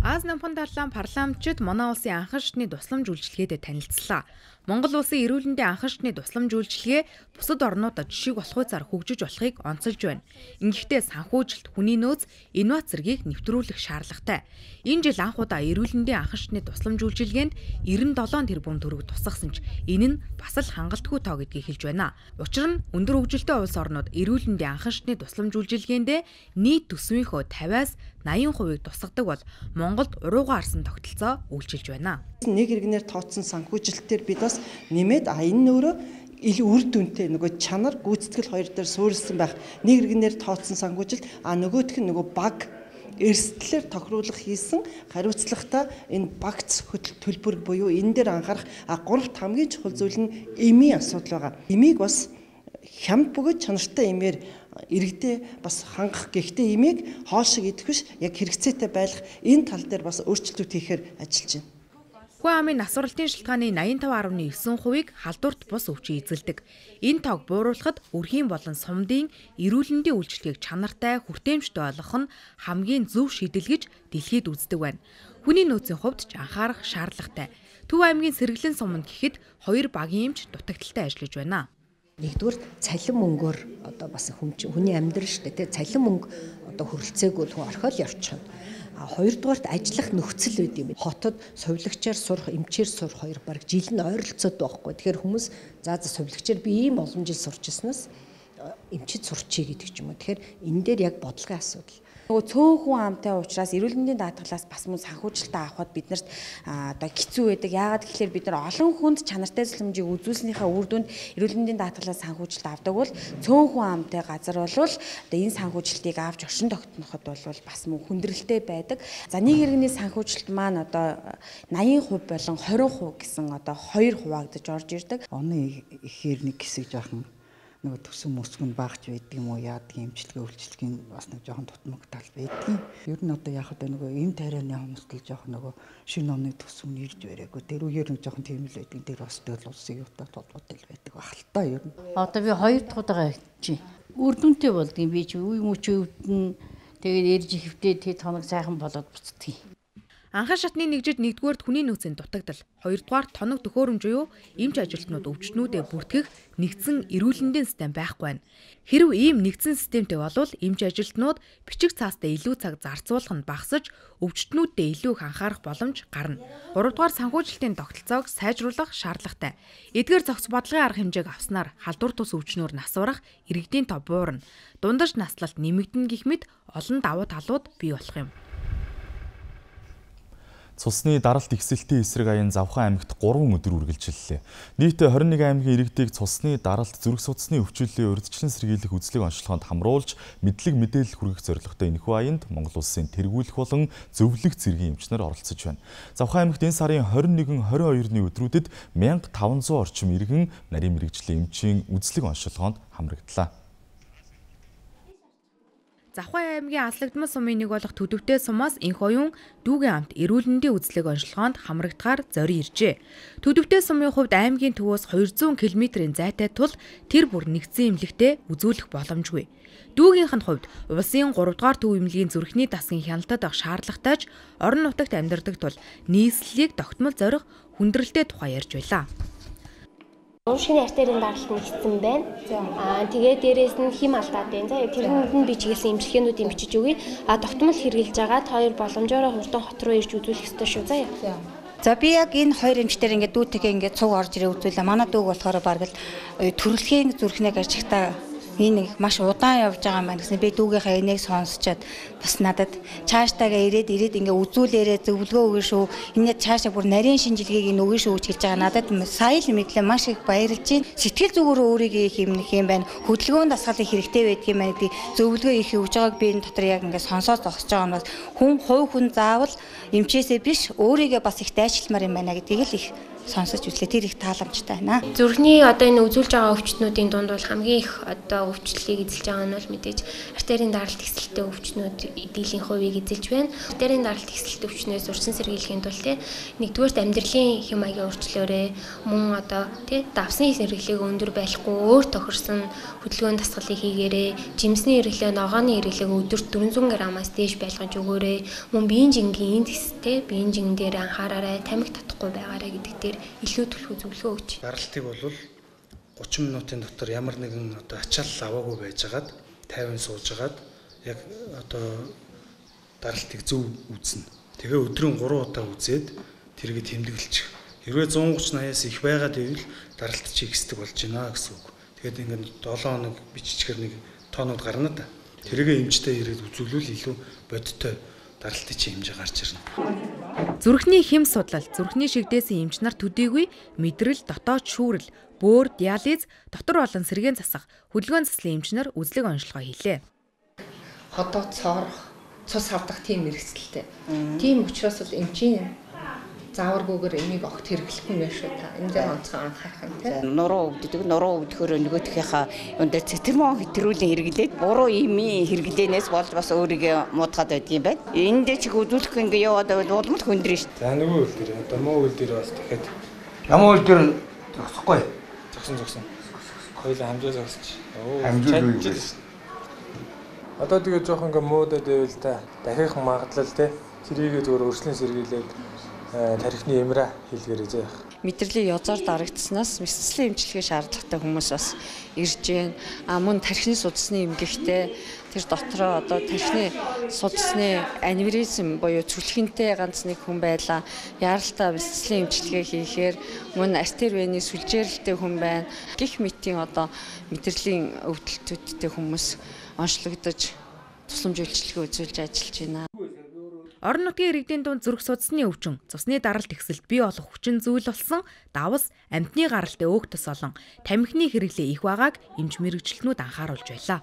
Аз намхан далайн парламентчид манай улсын анхан шатны тусламж үйлчилгээдэд танилцлаа. Монгол улсын эрүүл мэндийн анхан шатны тусламж үйлчилгээ бусад орнуудад жишг болох хуйцаар хөгжиж болохыг онцолж байна. Ингэхдээ санхүүжилт, хүний нөөц, инновац зэргийг нэвтрүүлэх шаардлагатай. Энэ жил анх удаа эрүүл мэндийн анхан шатны тусламж үйлчилгээнд девяносто seven тэрбум төгрөг тусгасан ч энэ нь бас л хангалтгүй тоо гэдгийг хэлж байна. Учир нь өндөр хөгжилтэй улс орнууд эрүүл мэндийн анхан шатны тусламж үйлчилгээндээ нийт төсвийнхөө fifty-аас eighty хувийг тусгадаг бол Монголд урууга арсан тогтолцоо үйлчилж байна. Нэг иргэнээр тооцсон санхүүжилтээр бид бас нэмээд а энэ өөрөө илүү үр дүнтэй нөгөө чанар гүйцэтгэл хоёр дээр суурилсан байх. Нэг иргэнээр тооцсон санхүүжилт а нөгөөх нь нөгөө баг эрсдлээр тохируулах хийсэн хариуцлагатай энэ багц төлбөр буюу энэ дээр анхаарах а гуравт хамгийн чухал зүйл нь эмийн асуудал байгаа. Эмийг бас хямд бөгөөд чанартай эмээр иргэдээ бас хангах. Гэхдээ эмийг хоол шиг идэх биш яг хэрэгцээтэй байлгах энэ тал дээр бас өөрчлөлтүүд хийхээр ажиллаж байна. Хүн амын насварлалтын шалтгааны eighty-five point nine хувийг халдварт бус өвчин эзэлдэг. Энэ тоог бууруулахад өрхийн болон сумдын эрүүл мэндийн үйлчилгээг чанартай, хүртээмжтэй болгох нь хамгийн зөв шийдэл гэж дэлхийд үздэг байна. Хүний нөөцийн хувьд ч анхаарах шаардлагатай. Төв аймгийн Сэргэлэн суманд гэхэд хоёр багийн эмч дутагдaltaй ажиллаж байна. Нэгдүгээр цалин мөнгөөр одоо бас хүний амьдрал шүү дээ. Цалин мөнгө одоо хөрөлцөөгүй хүн орхиол явчихна. А хоёрдугаарт ажиллах нөхцөл байд юм. Хотод сувилагчаар сурах, эмчээр сурах хоёр баг жил нь ойролцоод байхгүй. Тэгэхээр хүмүүс заа за сувилагчаар би ийм олон жил сурч ирснээс эмчид сурчий гэдэг ч юм уу. Тэгэхээр энэ дээр яг бодлогын асуудал. Нөгөө цөөхөн амтай учраас эрүүл мэндийн даатгалаас бас мөн санхүүжилтээ авахд биднэрт одоо хэцүү байдаг. Яагаад гэвэл бид нар олон хүнд чанартай тусламжийг үзүүлснийхаа үр дүнд эрүүл мэндийн даатгалаас санхүүжилт авдаг бол цөөхөн амтай газар болвол одоо энэ санхүүжилтийг авч оршин тогтноход бол бас мөн хүндрэлтэй байдаг. За нэг иргэний санхүүжилт маань одоо eighty percent болон twenty percent гэсэн одоо хоёр хуваагдаж орж ирдэг. Оны ихээр нэг хэсэг жоохон нөгөө төсөн мөсгөн багч байдаг юм уу яадаг эмчилгээ үйлчилгээний бас нэг жоохон тутмаг тал байдаг. Ер нь одоо яг одоо нөгөө эм тарианы хүмүүст л жоохон нөгөө шинэ оны төсөв нэрж барайгүй. Тэр үеэр нэг жоохон тийм л байдаг. Тэр бас тэгэл улсын юутай толгойтой л байдаг багталтаа ер нь. Одоо би хоёр дахь удаага чи үр дүнтэй болдгийн би чи үе мөч өвдөн тэгээд эрж ихвдээ тэд хоног сайхан болоод буцдгийг. Анхан шатны нэгжид нэгдүгээр хүний нөөцийн дутагдал, хоёрдугаар тоног төхөөрөмж буюу эмч ажилтнууд өвчтнүүдэд бүртгэх нэгдсэн эрүүл мэндийн систем байхгүй байна. Хэрв ийм нэгдсэн системтэй болвол эмч ажилтнууд бичиг цаастай илүү цаг зарцуулах нь багасж, өвчтнүүдэд илүү их анхаарах боломж гарна. гуравдугаар санхүүжилтийн тогтолцоог сайжруулах шаардлагатай. Эдгээр зохиц бодлогын арга хэмжээг авснаар халдвар тус өвчнөөр насварах иргэдийн тоо буурна. Дундаж наслалт нэмэгдэнэ гэх мэт олон давуу талууд бий болох юм. Цусны даралт ихсэлтийн эсрэг аян Завхан аймагт гурван өдөр үргэлжиллээ. Нийт хорин нэг аймгийн иргэдийг цусны даралт зүрх судасны өвчлөлийн урьдчилан сэргийлэх үзлэг онцлогоонд хамруулж мэдлэг мэдээлэл хүргэх зорилготой энэхүү аянд Монгол Улсын тэргүүлэх болон зөвлөх цэргийн эмчнэр оролцож байна. Завхан аймагт энэ сарын хорин нэгэн хорин хоёрны өдрүүдэд мянга таван зуун орчим иргэн нарийн мэрэгжлийн эмчийн үзлэг онцлогоонд хамрагдлаа. Завхан аймгийн Аслагдмал сумын нэг болох Төдөвтэй сумаас энх оюун дүүгийн амт эрүүл мэндийн үзлэг онцлогоонд хамрагдахаар зорин иржээ. Төдөвтэй сумын хувьд аймгийн төвөөс хоёр зуун километрийн зайтай тул тэр бүр нэгдсэн эмнэлэгтээ үзүүлэх боломжгүй. Дүүгийнх нь хувьд улсын гуравдугаар төв эмнэлгийн зүрхний дасгын хяналтад авах шаардлагатай ч орон нутагт амьдардаг тул нийслэлийг тогтмол зорих хүндрэлтэй тухай ярьж байлаа. Уушгины артерийн даралт нэгсэн байна. Аа тэгээ дээрээс нь хим алдаад байна. За тэрнэнд нь би чиглэсэн эмчилгээнүүдийн бичиж өгье. А тогтмол хэрэгжилж байгаа хоёр боломжоор хурдан хот руу ирж үзүүлэх ёстой шүү. За. За би яг энэ хоёр эмчтэр ингээд дүүтэйгээ ингээд цуг орж ирээ үзүүлээ. Манай дүүг болохоор бараг л төрөлхийн зүрхнээ ажигтаа энэ нэг маш удаан явж байгаа маань гэсэн би дүүгийнхаа энийг сонсчоод бас надад цаашдаагаа ирээд ирээд ингээ үзүүлээрээ зөвлөгөө өгнө шүү. Энэ цаашаа бүр нарийн шинжилгээг өгнө шүү гэж хэлж байгаа надад сая л мэдлээ маш их баярлж байна. Сэтгэл зүгээр өөрийгөө хэмнэх юм байна. Хөдөлгөөнд дасгалыг хэрэгтэй байдаг юм байна гэдэг зөвлөгөө их өгж байгааг би энэ дотор яг ингээ сонсоод зогсож байгаа нь бас хүн хувь хүн заавал эмчээсээ биш өөрийгөө бас их дайчилмаар юм байна гэдгийг л их сонсож үзлээ. Тэр их тааламжтай байна. Зүрхний одоо энэ үзүүлж байгаа өвчтнүүдийн дунд бол хамгийн их одоо өвчлөлийг эзэлж байгаа нь бол мэдээж артерийн даралт ихсэлтэй өвчнүүд дийлэн хувийг эзэлж байна. Артерийн даралт ихсэлтэй өвчнөөс урьдчилан сэргийлэхийн тулд тий нэгдүгээрт амьдралын хэм маягийн өөрчлөлөөрөө мөн одоо тий давсан хэрэглээг өндөр байхгүй өөр тохирсон хөдөлгөөний дасгалыг хийгээрээ жимсний хэрэглээ ногооны хэрэглээг өдөрт дөрвөн зуун граммаас дээш байлгаж өгөөрэй. Мөн биеийн жингийн эндекс тий биеийн жин дээр анхаараарай. Тамхи татахгүй байгаарай гэдэг дээр илүү төлөв зөвлөгөө өгч. Даралтыг бол гучин минутын дотор ямар нэгэн одоо ачаалал аваагүй байжгаад тайван суужгаад яг одоо даралтыг зөв үзнэ. Тэгээ өдрийн гурван удаа үзээд тэргээ тэмдэглэж. Хэрвээ зуун гуч наяас их байгаад ивэл даралт чи ихсдэг болж байна гэсэн үг. Тэгээд ингээд долоо хоног биччихэр нэг тоонод гарна да. Тэргээ эмчтэй ирээд үзүүлвэл илүү бодиттой даралтын чи хэмжээ гарч ирнэ. Зүрхний хэм судлал, зүрхний шигдээсэн эмч нар төдийгүй мэдрэл, дотоод шүүрэл, бөөр, диализ, дотор болон сэргээн засах, хөдөлгөөн заслын эмч нар үзлэг онцлогоо хийлээ. Хотоо цоорох, цус авдах тийм мэргэцэлтэй. Тийм учраас бол эмчийн зааваргүйгээр энийг огт хэрэглэхгүй байх шүү та. Энэ дээр онцгой анхаарах юм тийм. Нуруу өвддөг, нуруу өвдөхөөр нөгөөхийнхаа өндөр цэцэрмөн хэтрүүлэн хэрэглээд буруу имийн хэрэглэнээс болж бас өөрийгөө муудгаад байдгийн байна. Энд дээр чиг үзүүлэх ингээ яваад байвал улмал хөндрөн шүү. За нөгөө үйл дээр одоо муу үйл дээр бас дахиад ямар үйл дээр зогсохгүй. Зогсон зогсон. Хоёулаа хамжаа зогсож. Хамжаа. Одоо тэгээ жоох ингээ муудад байвал та дахих магадлал те. Тэрийгээ зөвөр өршлөн сэргийлээд тарихны эмрэ хийлгэрэй зэ. Мэдрэлийн язаар дарагдсанаас мэдрэлийн эмчилгээ шаардлагатай хүмүүс бас ирж байна. А мөн тархины судасны эмгэгтэй тэр дотроо одоо тархины судасны аневризм буюу цүлхэнтэй ганц нэг хүн байлаа. Яралтай мэдрэлийн эмчилгээ хийхээр мөн артер вены сүлжээрэлтэй хүн байна. Гэх мэтийн одоо мэдрэлийн өвдөлтүүдтэй хүмүүс онцлогдож тусламж үйлчилгээ үзүүлж ажиллаж байна. Орон нутгийн иргэдийн дунд зүрх судасны өвчин, цусны даралт ихсэлт бий болох хүчин зүйл болсон давс, амьтны гаралтай өөх тус болон тамхины хэрэглээ их байгааг эмч мэрэгчлэнүүд анхааруулж байлаа.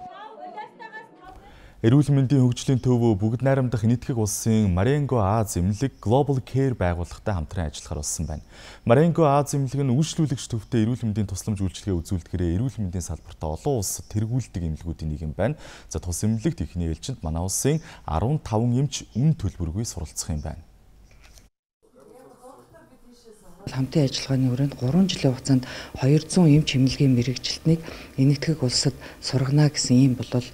Эрүүл мэндийн хөгжлийн төв бүгд найрамдах нийтгэх улсын Marengo Аз эмнэлэг Global Care байгууллагатай хамтран ажиллахаар болсон байна. Marengo Аз эмнэлэг нь үйлчлүүлэгч төвтэй эрүүл мэндийн тусламж үйлчилгээ үзүүлдэхээрээ эрүүл мэндийн салбарт олон улс тэргүүлдэг эмнэлгүүдийн нэг юм байна. За тус эмнэлэгт ихний ээлжинд манай улсын арван таван эмч үн төлбөргүй суралцах юм байна. Хамтын ажиллагааны хүрээнд гурван жилийн хугацаанд хоёр зуун эм чимнэлгийн мэрэгжилтнийг энэтхэг улсад сургана гэсэн ийм болол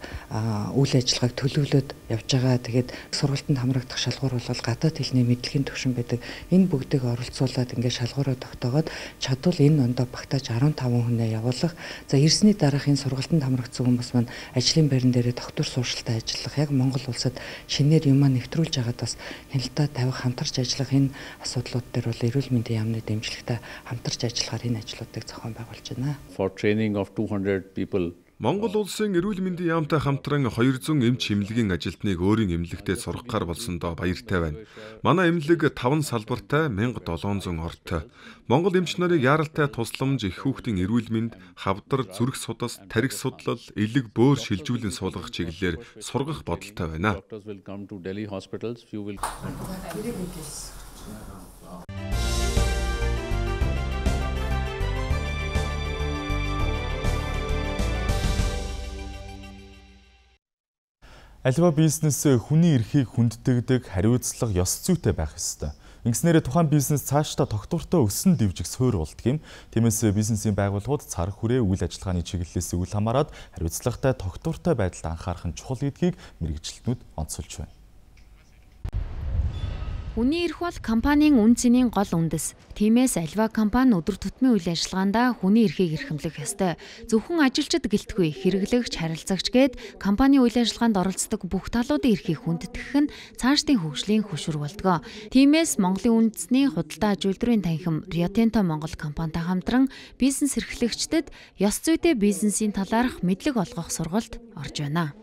үйл ажиллагааг төлөвлөд явж байгаа. Тэгээд сургалтанд хамрагдах шалгуур бол гадаад хэлний мэдлэгийн төвшин байдаг. Энэ бүгдийг оролцуулаад ингээд шалгуураа тогтоогоод чадвал энэ ондоо багтааж арван таван хүнээ явуулах. За ирсний дараах энэ сургалтанд хамрагдсан хүмүүс маань ажлын байран дээрээ доктор сууршилтай ажиллах, яг Монгол улсад шинээр юмаа нэвтрүүлж байгаад бас хяналтаа тавих, хамтарч ажиллах энэ асуудлууд дээр бол эрүүл мэндийн яамны дэмжлэгтэй хамтарч ажиллахаар энэ ажлуудыг зохион байгуулж байна. For training of two hundred people Монгол улсын эрүүл мэндийн яамтай хамтран хоёр зуун эмч эмнэлгийн ажилтныг өөрийн эмнэлэгтээ сургахаар болсондоо баяртай байна. Манай эмнэлэг таван салбартай мянга долоон зуун ортой. Монгол эмч нарыг яаралтай тусламж, их хүүхдийн эрүүл мэнд, хавдар, зүрх судас, тархи судлал, элэг бөөр шилжүүлэн суулгах чиглэлээр сургах бодолтой байна. Аливаа бизнес хүний эрхийг хүнддэгдэг, хариуцлага, ёс зүйтэй байх ёстой. Ингэснээр тухайн бизнес цаашдаа тогтвортой өсөн дэвжих суурь болдгийм. Тиймээс бизнесийн байгууллагууд цар хүрээ үйл ажиллагааны чиглэлээс үл хамааран хариуцлагатай, тогтвортой байдалд анхаарах нь чухал гэдгийг мэргэжилтнүүд онцолж байна. Хүний эрх бол компанийн үн цэнийн гол үндэс. Тиймээс альва компани өдөр тутмын үйл ажиллагаанд хүний эрхийг эрхэмлэх ёстой. Зөвхөн ажилчид гэлтгүй, хэрэглэгч, харилцагч гээд компани үйл ажиллагаанд оролцдог бүх талуудын эрхийг хүндэтгэх нь цаашдын хөгжлийн хөшүүр болдгоо. Тиймээс Монголын үндэсний худалдаа аж үйлдвэрийн танхим Rio Tinto Монгол компанитай хамтран бизнес эрхлэгчдэд ёс зүйтэй бизнесийн талаарх мэдлэг олгох сургалт орж байна.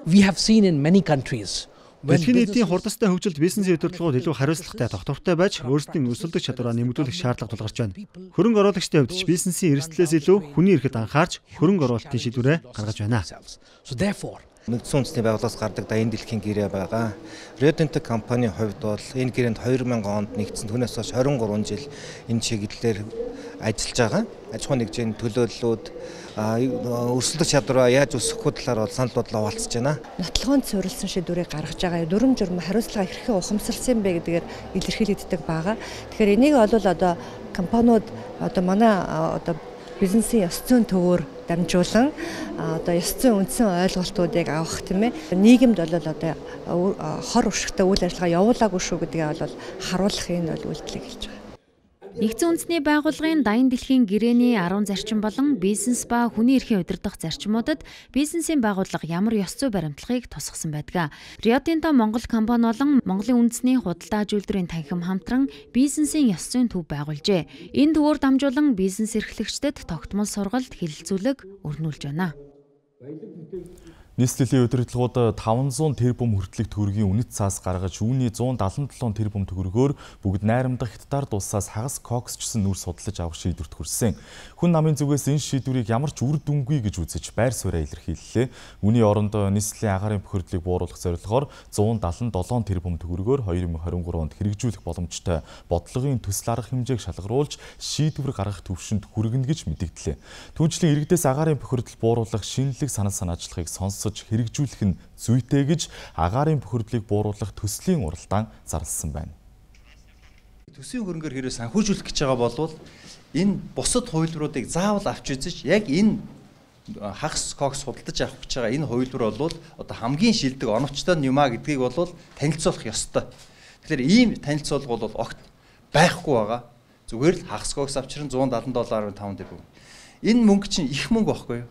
We have seen in many countries Дэлхийн нийтийн хурдастай хөгжилд бизнесийн удирдлагууд илүү хариуцлагатай, тогтвортой байж өөрсдийн өрсөлдөх чадвараа нэмэгдүүлэх шаардлага тулгарч байна. Хөрөнгө оруулагчдын хувьд ч бизнесийн эрсдлээс илүү хүний эрхэд анхаарч хөрөнгө оруулалтын шийдвэрээ гаргаж байна. Нэгдсэн үндэсний байгууллагаас гардаг дайны дэлхийн гэрээ байгаа. Rio Tinto компанийн хувьд бол энэ гэрээнд хоёр мянган онд нэгдсэн, түүнээс хойш хорин гурван жил энэ чиглэлээр ажиллаж байгаа. Аж ахуйн нэгжийн төлөөллүүд, өрсөлдөх чадвараа яаж өсгөх талаар бол санал бодлоо хуваалцаж байна. Нотлохонд суурилсан шийдвэрийг гаргаж байгаа. Дүрм журм хариуцлага хэрхэн ухамсарлсан бэ гэдгээр илэрхийлэгддэг байгаа. Тэгэхээр энийг бол одоо компаниуд одоо манай одоо бизнесийн ёс зүйн төвөөр дамжуулан одоо ёс зүйн үндсэн ойлголтуудыг авах тийм ээ. Нийгэмд бол одоо хор уршигтай үйл ажиллагаа явуулаагүй шүү гэдгийг бол харуулах энэ бол үйлдэл хэлж байгаа. Нэгдсэн үндэсний байгууллагын дайны дэлхийн гэрээний арван зарчим болон бизнес ба хүний эрхийн удирдах зарчмуудад бизнесийн байгууллага ямар ёс зүй баримтлагыг тусгасан байдаг. Rio Tinto Монгол компани болон Монголын үндэсний худалдаа аж үйлдвэрийн танхим хамтран бизнесийн ёс зүйн төв байгуулжээ. Энэ төвөөр дамжуулан бизнес эрхлэгчдэд тогтмол сургалт, хэлэлцүүлэг өрнүүлж байна. Нийслэлийн удирдлагууд таван зуун тэрбум хүртэлх төгрөгийн үнэт цаас гаргаж үүний зуун дадлан долоон тэрбум төгрөгөөр бүгд найрамдах хятад улсаас хагас коксчсан нүр судалж авах шийдвэрт хүрсэн. Хүн намын зүгээс энэ шийдвэрийг ямар ч үр дүнгүй гэж үзэж байр сууриа илэрхийллээ. Үүний оронд нийслэлийн агаарын бохирдлыг бууруулах зорилгоор зуун дадлан долоон тэрбум төгрөгөөр хоёр мың хорин гурав онд хэрэгжүүлэх боломжтой бодлогын төсөл арга хэмжээг шалгаруулж шийдвэр гаргах төвшөнд хүргэнэ гэж мэдэгдлээ. Түүнчлэн иргэдээс агаарын бохирдол бууруулах шинэлэг санал санаачлагыг сонс хэрэгжүүлэх нь зүйтэй гэж агаарын бохирдлыг бууруулах төслийн уралдаан зарласан байна. Төсвийн хөрөнгөөр хэрэг санхүүжүүлэх гэж байгаа бол энэ бусад хувилбаруудыг заавал авч үзэж яг энэ хагас кокс худалдаж авах гэж байгаа энэ хувилбар бол одоо хамгийн шилдэг оновчтой юм а гэдгийг бол танилцуулах ёстой. Тэгэхээр ийм танилцуулга бол огт байхгүй байгаа. Зүгээр л хагас кокс авчран зуун дадлан доллар таван тэрбум. Энэ мөнгө чинь их мөнгө байхгүй юу?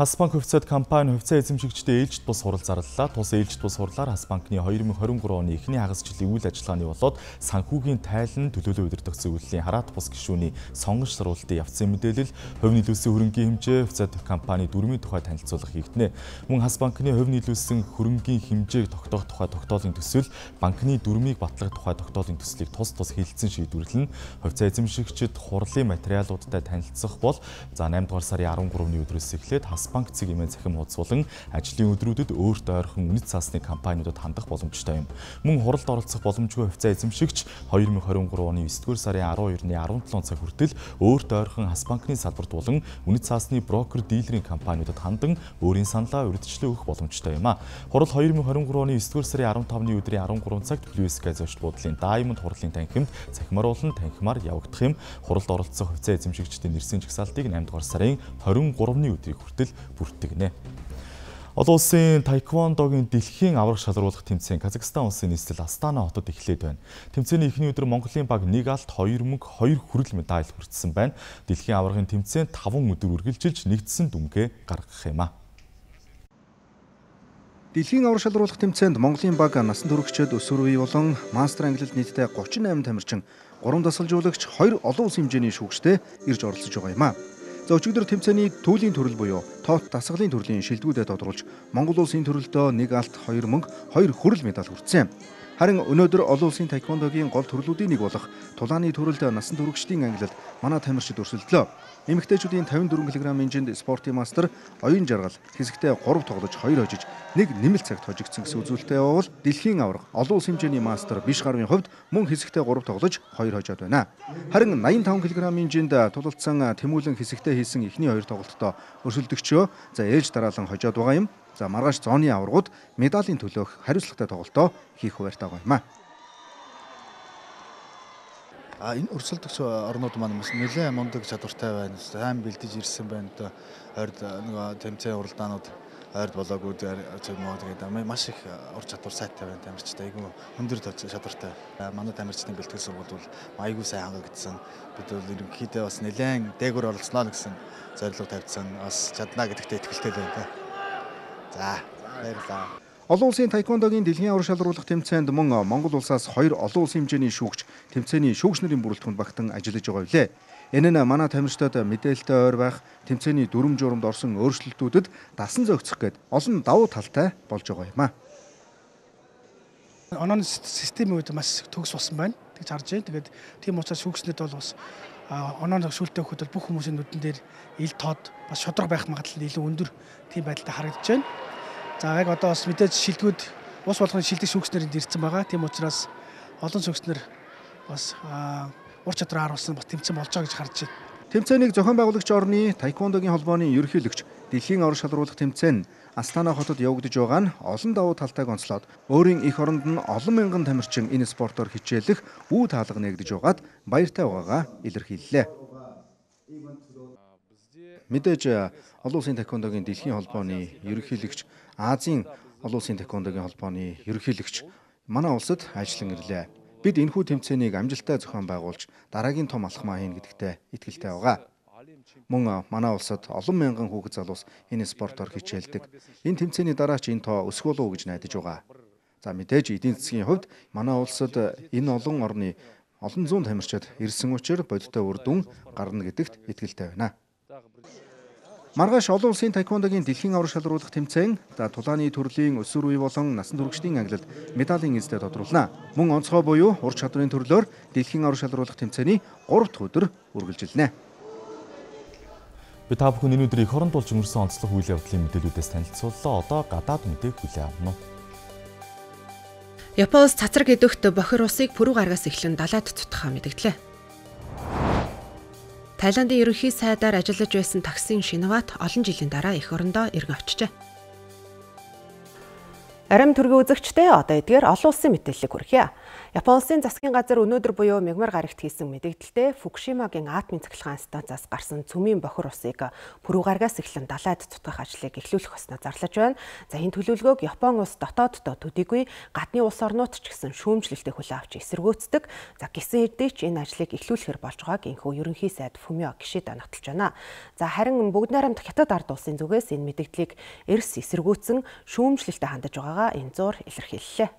Хасбанк хувьцаат компани хувьцаа эзэмшигчдээ ээлжид бус хурал зарлалаа. Тус ээлжид бус хурлаар Хасбанкны хоёр мың хорин гурав оны эхний хагас жилийн үйл ажиллагааны болоод санхүүгийн тайлан төлөөлөө удирдах зөвлөлийн хараат бус гишүүний сонгож саруултын явцын мэдээлэл, хувь нийлүүлсэн хөрөнгийн хэмжээ, хувьцаат компани дүрмийн тухай танилцуулга хийгдэнэ. Мөн Хасбанкны хувь нийлүүлсэн хөрөнгийн хэмжээг тогтоох тухай тогтоолын төсөл, банкны дүрмийг батлах тухай тогтоолын төслийг тус тус хэлэлцэн шийдвэрлэн хувьцаа эзэмшигчид хурлын материалуудтай танилцах бол за наймдугаар сарын арван гуравны өдрөөс эхлээд Хасбанк цэг хэмээн захим хуудсуулан ажлын өдрүүдэд өөрт ойрхон үнэт цаасны компаниудад хандах боломжтой юм. Мөн хуралд оролцох боломжгүй хувьцаа эзэмшигч two thousand twenty-three оны ninth сарын twelve-ны seventeen цаг хүртэл өөрт ойрхон Хасбанкны салбарт болон үнэт цаасны брокер дилерийн компаниудад хандан өөрийн саналаа урьдчилан өгөх боломжтой юм а. Хурал two thousand twenty-three оны ninth сарын fifteen-ны өдрийн thirteen цагт Blue-Sky зочд буудлын Diamond хурлын танхимд цахимаар болон танхимаар явагдах юм. Хуралд оролцох хувьцаа эзэмшигчдийн нэрсийн жагсаалтыг eight дугаар сарын twenty-three-ны өдрийг хүртэл бүртгэгнэ. Олон улсын таеквондогийн дэлхийн аврах шалруулах тэмцээн Казахстан улсын нийслэл Астана хотод эхлээд байна. Тэмцээний эхний өдөр Монголын баг нэг алт, хоёр мөнх, хоёр хүрэл медаль хүртсэн байна. Дэлхийн аврагын тэмцээнд таван өдөр үргэлжилж нэгдсэн дүнгээ гаргах юм а. Дэлхийн аврах шалруулах тэмцээнд Монголын баг насан туршид өсвөр үе болон мастер англид нийтдээ thirty-eight тамирчин, гурван дасгалжуулагч, хоёр олон улсын хэмжээний шүүгчтэй ирж оролцож байгаа юм а. За өчигдөр тэмцээний түүлийн төрөл буюу тоот дасгалын төрлийн шилдэгүүдэд тодруулж Монгол улсын төрөлдөө нэг алт, хоёр мөнх, хоёр хүрэл медаль хүртсэн. Харин өнөөдөр олон улсын таеквондогийн гол төрлүүдийн нэг болох тулааны төрөлд насан туршидын ангилалд манай тамирчид өрсөлдлөө. Эмэгтэйчүүдийн fifty-four кг инжинд спортын мастер оюун жаргал хэсэгтээ three тоглож two хожиж нэг нэмэлт цагт хожигдсон гэсэн үзүүлэлтээ явуул дэлхийн аврах олон улсын хэмжээний мастер биш гарвын хувьд мөн хэсэгтээ three тоглож two хожоод байна. Харин ninety-five кг инжинд тулалдсан Тэмүүлэн хэсэгтээ хийсэн эхний хоёр тоглолтоо өрсөлдөгчөө за ээлж дараалан хожоод байгаа юм. За маргааш зооны аваргууд медалийн төлөөх хариуцлагатай тоглолтоо хийх хуваарьтай байгаа юм а. А энэ өрсөлдөгч орнууд маань бас нэлээд мундаг чадвартай байна. Сайн бэлдэж ирсэн байна. Ойрд нөгөө тэмцээн уралдаанууд ойрд болоогүй зэмөө тэгээд маш их ур чадвар сайтай байна тамирчтай. Айгүй өндөр чадвартай. Манай тамирчдын бэлтгэл сургууль бол айгүй сайн хангагдсан. Бид бол ерөнхийдөө бас нэлээд дээгүүр оролцсноо гэсэн зорилго тавьсан. Бас чадна гэдэгтээ итгэлтэй байна. За, баярлалаа. Олон улсын таеквондогийн дэлхийн аврах шалруулах тэмцээнд мөн Монгол улсаас хоёр олон улсын хэмжээний шүүгч тэмцээний шүүгч нарын бүрэлдэхүүнд багтан ажиллаж байгаа билээ. Энэ нь манай тамирчдад мэдээлэлтэй ойр байх, тэмцээний дүрм журамд орсон өөрчлөлтүүдэд дасан зохицох гээд олон давуу талтай болж байгаа юм а. Онооны системийн үед маш төгс болсон байна. Тэгж харж байна. Тэгээд тийм учраас шүүгчнүүд бол бас онооны шүүлтэй өгөхөд бүх хүмүүсийн нүдэн дээр ил тод бас шодрог байх магадлал илүү өндөр тийм байдалтай харагдаж байна. За яг одоо бас мэдээж шилдэгүүд ус болгоны шилдэг шүүгчнэрийн ирсэн байгаа. Тийм учраас олон шүүгчнэр бас ур чадвар харуулсан бас тэмцээн болж байгаа гэж харж байна. Тэмцээнийг зохион байгуулагч орны таеквондогийн холбооны ерөнхийлөгч дэлхийн аврах шалруулах тэмцээн Астана хотод явагдаж байгаа нь олон давуу талтайг онцлоод өөрийн эх оронд нь олон мянган тамирчин энэ спортоор хичээлэх үе таалга нэгдэж байгаад баяртай байгаагаа илэрхийллээ. Мэдээж олон улсын таеквондогийн дэлхийн холбооны ерөнхийлөгч Азийн олон улсын таеквондогийн холбооны ерөнхийлөгч манай улсад ажиллан ирлээ. Бид энэхүү тэмцээнийг амжилттай зохион байгуулж дараагийн том алхмаа хийнэ гэдэгтээ итгэлтэй байгаа. Мөн манай улсад олон мянган хүүхэд залуус энэ спортоор хичээлдэг. Энэ тэмцээний дараа ч энэ тоо өсөх болов уу гэж найдаж байгаа. За мэдээж эдийн засгийн хувьд манай улсад энэ олон орны олон зуун тамирчид ирсэн учраас бодиттой үр дүн гарна гэдэгт итгэлтэй байна. Маргааш олон улсын таеквондогийн дэлхийн аврах шалруулах тэмцээн за тулааны төрлийн өсвөр үе болон насан туршидын ангилалд медалийн эзэд тодруулна. Мөн онцгой буюу ур чадварын төрлөөр дэлхийн аврах шалруулах тэмцээний three дахь өдөр үргэлжилнэ. Би та бүхэн энэ өдрийн эх оронд болж өнгөрсөн онцлог үйл явдлын мэдээлүүдээс танилцууллаа. Одоо гадаад мэдээг хүлээн авна уу. Японоос цацраг идэвхт бохир усыг пүрэв гаргаас эхлэн далайд цутгахаа мэдгдлээ. Тайландын ерөнхий сайдаар ажиллаж байсан таксин Шиноват олон жилийн дараа эх орондоо эргэн очжээ. Арим төргийн үзэгчтэй одоо эдгээр олон улсын мэдээллийг хүргье. Японы улсын засгийн газар өнөөдөр буюу мягмар гарагт хийсэн мэдээлэлдээ Фукушимагийн атомын цахилгаан станцаас гарсан цөмийн бохир усыг пүрэв гаргаас эхлэн далайд цутгах ажлыг эхлүүлэх ёсноо зарлаж байна. За энэ төлөвлөгөөг Японы улс дотооддоо төдийгүй гадны улс орнууд ч гэсэн шүүмжлэлтэй хүлээн авч эсэргүүцдэг. За гисэн хэдий ч энэ ажлыг эхлүүлэхээр болж байгааг энэхүү ерөнхий сайд Фумио Кишида нотолж байна. За харин бүгд найрамд хятад ард улсын зүгээс энэ мэдээллийг эрс эсэргүүцэн шүүмжлэлтэй хандаж байгаагаа энэ зур илэрхийллээ.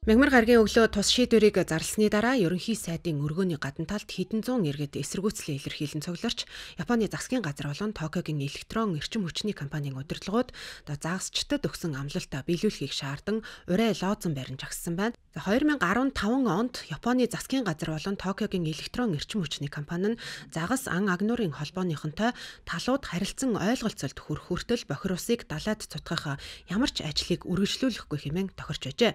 Мягмар гарагийн өглөө тус шийдвэрийг зарласны дараа ерөнхий сайдын өргөөний гадна талд хэдэн зуун иргэд эсэргүүцлийн илэрхийлэн цугларч Японы засгийн газар болон Токиогийн электрон эрчим хүчний компанийн удирдлагууд загасчдад өгсөн амлалтаа биелүүлэхийг шаардсан урай лоозон баримж агссан байна. две тысячи десятый онд Японы засгийн газар болон Токиогийн электрон эрчим хүчний компани нь загас ан агнуурын холбооныхонтой талууд харилцан ойлголцолд хүрэх хүртэл бохир усыг далайд цутгах ямар ч ажлыг үргэлжлүүлэхгүй хэмээн тохирч байжээ.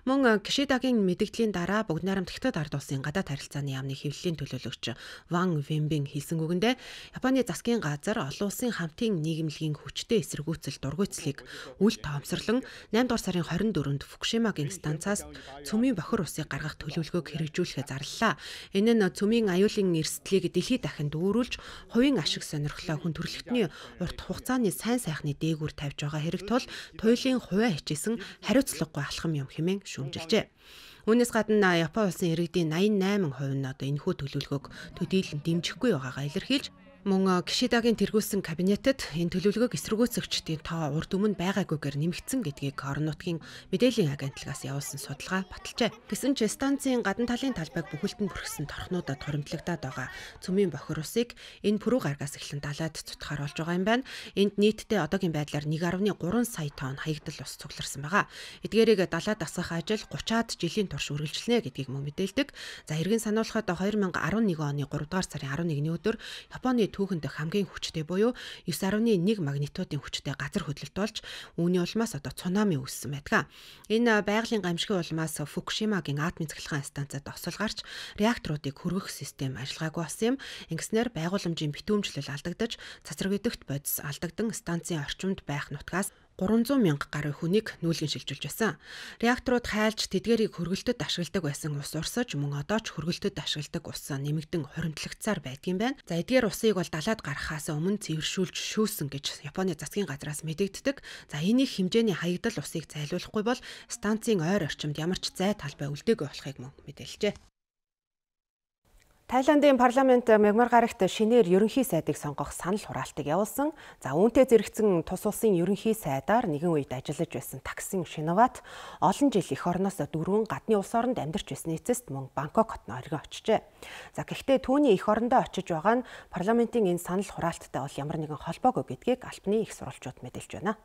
Мөн Кишидагийн мэдэгдлийн дараа бүгд найрамд Хятад ард улсын гадаад харилцааны яамны хэвлэлийн төлөөлөгч Ван Вэмбин хэлсэн үгэндээ Японы засгийн газар олон улсын хамтын нийгэмлэгийн хүчтэй эсэргүүцэл дургуйцлыг үл тоомсорлон наймдугаар сарын хорин дөрөвөнд Фукушимагийн станцаас цөмийн бохир усыг гаргах төлөвлөгөөг хэрэгжүүлэхээ зарлалаа. Энэ нь цөмийн аюулын эрсдлийг дэлхийд дахин дүүрүүлж, хувийн ашиг сонирхлоо хүн төрөлхтний урт хугацааны сайн сайхны дээгүүр тавьж байгаа хэрэг тул туйлын хувиа хичээсэн хариуцлагагүй алхам юм хэмээн шүүмжилжээ. Үүнээс гадна Япон улсын иргэдийн восемьдесят восемь хувь нь одоо энэхүү төлөвлөгөөг төдийлөн дэмжихгүй байгаагаа илэрхийлж мөн Кишидагийн тэргүүлсэн кабинетэд энэ төлөвлөгөөг эсэргүүцэгчдийн тоо урд өмнө байгаагүйгээр нэмэгдсэн гэдгийг орон нутгийн мэдээллийн агентлагаас явуулсан судалгаа баталжээ. Гэсэн ч станцын гадна талын талбайг бүхэлд нь бүрхсэн торхнуудад хуримтлагдаад байгаа цөмийн бохир усыг энэ пүрэв гаргаас эхлэн далайд цутгахаар болж байгаа юм байна. Энд нийтдээ одоогийн байдлаар one point three сая тонн хаягдал ус цугларсан байгаа. Эдгээрийг далайд асгах ажил thirty-аад жилийн турш үргэлжилнэ гэдгийг мөн мэдээлдэг. За эргэн сануулхад two thousand eleven оны three дугаар сарын elevenний өдөр Японы түүхэнд хамгийн хүчтэй буюу nine point one магнитудын хүчтэй газар хөдлөлт болж үүний улмаас одоо цунами үүссэн байдаг. Энэ байгалийн гамшигын улмаас Фукушимагийн атомын цахилгаан станцад осол гарч реакторуудыг хөргөх систем ажиллагаагүй болсон юм. Ингэснээр байгууламжийн битүүмжлэл алдагдаж, цацраг өдөгт бодис алдагдан станцын орчимд байх нутгаас three hundred мянга гаруй хүнийг нүүлгэн шилжүүлж байсан. Реакторууд хайлж тэдгэрийг хөргөлтөд ашигладаг байсан ус урсаж мөн одоо ч хөргөлтөд ашигладаг ус нэмэгдэн хоримтлагцаар байдгийн байна. За эдгээр усыг бол далайд гаргахаас өмнө цэвэршүүлж шүүсэн гэж Японы засгийн газраас мэдэгддэг. За энийг хэмжээний хаягдал усыг зайлуулахгүй бол станцын ойр орчимд ямар ч зай талбай үлдээгүй болохыг мөн мэдээлжээ. Тайландын парламент Мягмар гарагт шинээр ерөнхий сайдыг сонгох санал хураалтыг явуулсан. За үүнтэй зэрэгцэн тус улсын ерөнхий сайдаар нэгэн үед ажиллаж байсан Таксин Шинават олон жил эх орноос дөрвөн гадны улс оронд амьдарч байсан эцэст мөн Бангкок хотод оргин очжээ. За гэхдээ түүний эх орондоо очиж байгаа нь парламентын энэ санал хураалттай бол ямар нэгэн холбоогүй гэдгийг албаны их сурвалжууд мэдээлж байна.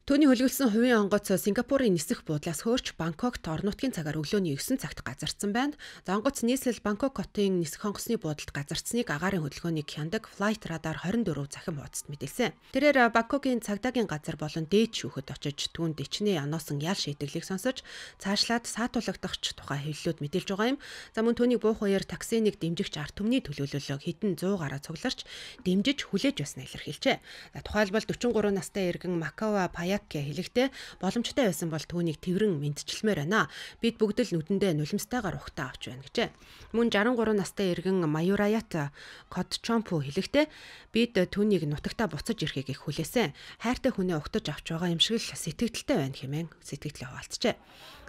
Төвний хөлгөлсөн хувийн онгоц Сингапурын нисэх буудлаас хөөрч Бангкокт орон нутгийн цагаар өглөөний nine цагт газардсан байна. За онгоц нийслэл Бангкок хотын нисэх онгоцны буудалд газардсныг агаарын хөдөлгөөнийг хяндаг Flight Radar twenty-four захин хуудасд мэдээлсэн. Тэрээр Бангкокын цагдаагийн газар болон дээд шүүхэд очиж түүнд ичнээ оноосон ял шийдэглийг сонсож цаашлаад саатуулагдахч тухай хэвлэлүүд мэдээлж байгаа юм. За мөн түүний буух үеэр таксиныг дэмжигч ард түмний төлөөлөл хэдэн one hundred гараа цугларч дэмжиж хүлээж байснаа илэрхийлжээ. За тухайлбал forty-three настай иргэн Макава Пая хэлэхдээ боломжтой байсан бол түүнийг тэрэн мэдчилмээр байна. Бид бүгд л нүдэндээ нулимстайгаар ухтаа авч байна гэжээ. Мөн sixty-three настай иргэн Маюраят Котчомпу хэлэхдээ бид түүнийг нутагтаа буцаж ирэхийг их хүлээсэн. Хайртай хүнээ угтаж авч байгаа юм шиг л сэтгэгдэлтэй байна хэмээн сэтгэлдээ хуваалцжээ.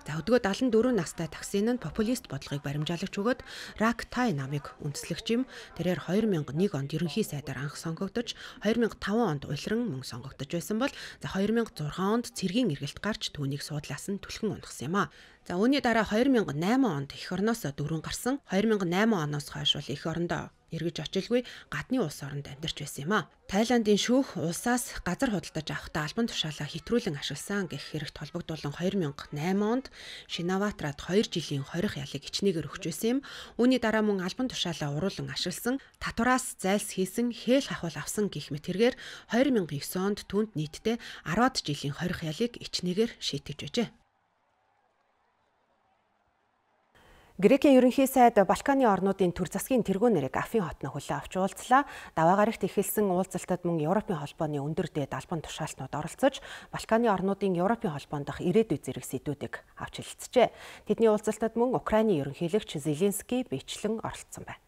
За өдгөө seventy-four настай таксин нь популист бодлогыг баримжаалагч өгөөд Рак Тай намыг үндэслэгч юм. Тэрээр two thousand one онд ерөнхий сайдаар анх сонгогдож, two thousand five онд улиран мөн сонгогдож байсан бол за two thousand six онд цэргийн эргэлт гарч түүнийг суудлаас нь түлхэн унахсан юм а. За үүний дараа two thousand eight онд эх орноос дөрвөн гарсан. two thousand eight оноос хойш бол эх орондоо эргэж очилгүй гадны улс оронд амьдарч байсан юм а. Тайландын шүүх улсаас газар худалдаж авахдаа албан тушаалаа хэтрүүлэн ашигласан гэх хэрэгт холбогдуулан two thousand eight онд Шинаватрад two жилийн хорих ялыг ичнээгээр өгч байсан юм. Үүний дараа мөн албан тушаалаа уруулан ашигласан, татвараас зайлс хийсэн, хээл хахвал авсан гэх мэт хэрэгээр two thousand nine онд түүнд нийтдээ ten жилийн хорих ялыг ичнээгээр шийтгэж байжээ. Грекийн ерөнхий сайд Балканы орнуудын төр засгийн тэргүүнэрийг Афин хотно хүлээн авч уулзлаа. Даваа гарагт эхэлсэн уулзалтад мөн Европын холбооны өндөр дээд албан тушаалтнууд оролцож, Балканы орнуудын Европын холбоонд дах ирээдүйн зэрэг сэдвүүдийг авч хэлэлцжээ. Тэдний уулзалтад мөн Украины ерөнхийлөгч Зеленский биечлэн оролцсон байна.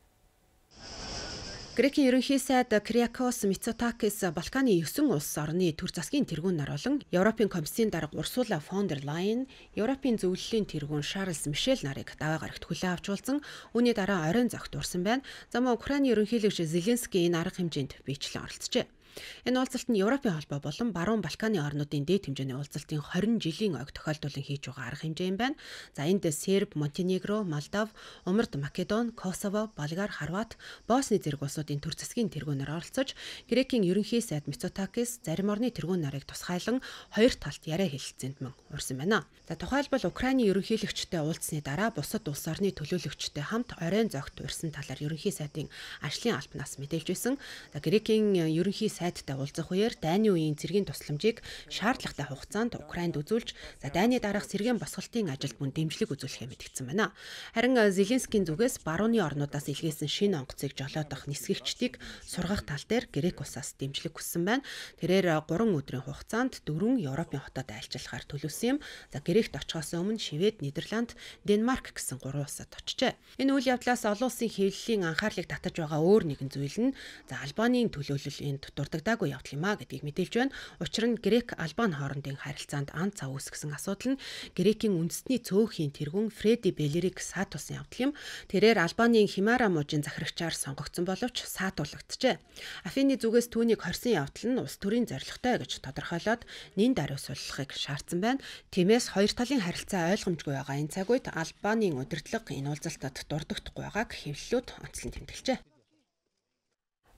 Грекийн ерөнхий сайд Криакос Мицотакис Балканы nine улс орны төр засгийн тэргүүнээр болон Европын комиссийн дарга Урсула фон дер Лайен, Европын зөвлөлийн тэргүүн Шарлс Мишель нарыг даваа гарагт хүлээн авч уулзсан. Үүний дараа оройн зогт урсан байна. За мөн Украины ерөнхийлөгч Зеленский энэ арга хэмжээнд биечлэн оролцжээ. Энэ уулзалт нь Европын холбоо болон Баруун Балканы орнуудын дээд хэмжээний уулзалтын хорин жилийн ойг тохиолдуулан хийж байгаа арга хэмжээ юм байна. За энд Серб, Монтенегро, Молдов, Умард Македон, Косово, Болгар, Хорват, Босни зэрэг улсуудын төр засгийн тэргүүнээр оролцож, Грекийн ерөнхий сайд Мицотакис зарим орны тэргүүн нарыг тусгайлан хоёр талд яриа хэлэлцээнд мөн урьсан байна. За тухайлбал Украины ерөнхийлөгчтэй уулзсны дараа бусад улс орны төлөөлөгчтэй хамт оройн зогт урьсан талаар ерөнхий сайдын ажлын албанаас мэдээлж байсан. За Грекийн ерөнхий сайдтай уулзах үеэр дайны үеийн цэргийн тусламжийг шаардлагатай хугацаанд Украинд үзүүлж, за дайны дараах сэргээн босголтын ажилд мөн дэмжлэг үзүүлэхээ мэдгдсэн байна. Харин Зеленскийн зүгээс барууны орнуудаас илгээсэн шинэ онгоцыг жолоодох нисгэгчдийг сургах тал дээр Грек улсаас дэмжлэг хүссэн байна. Тэрээр гурван өдрийн хугацаанд дөрвөн Европын хотод айлчлахаар төлөвлөсөн юм. За Грект очихоос өмнө Швед, Нидерланд, Денмарк гэсэн гурван улсад очжээ. Энэ үйл явдлаас олон улсын хэвлэлийн анхаарлыг татаж байгаа өөр нэгэн зүйл нь за Албанийн төлөөлөл энд дурддагдаагүй явдал юм а гэдгийг мэдээлж байна. Учир нь Грек Албан хоорондын харилцаанд ан цав үүсгэсэн асуудал нь Грекийн үндэсний цөөхөн тэргүүн Фреди Белериг саатуулсан явдал юм. Тэрээр Албанийн Химара мужийн захирагчаар сонгогдсон боловч саатуулагджээ. Афины зүгээс түүнийг хорсон явдал нь улс төрийн зорилготой гэж тодорхойлоод нэн даруйсуулахыг шаардсан байна. Тиймээс хоёр талын харилцаа ойлгомжгүй байгаа энэ цаг үед Албанийн удирдлага энэ уулзалтад дурддахгүй байгааг хэвлэлүүд онцлон тэмдэглэжээ.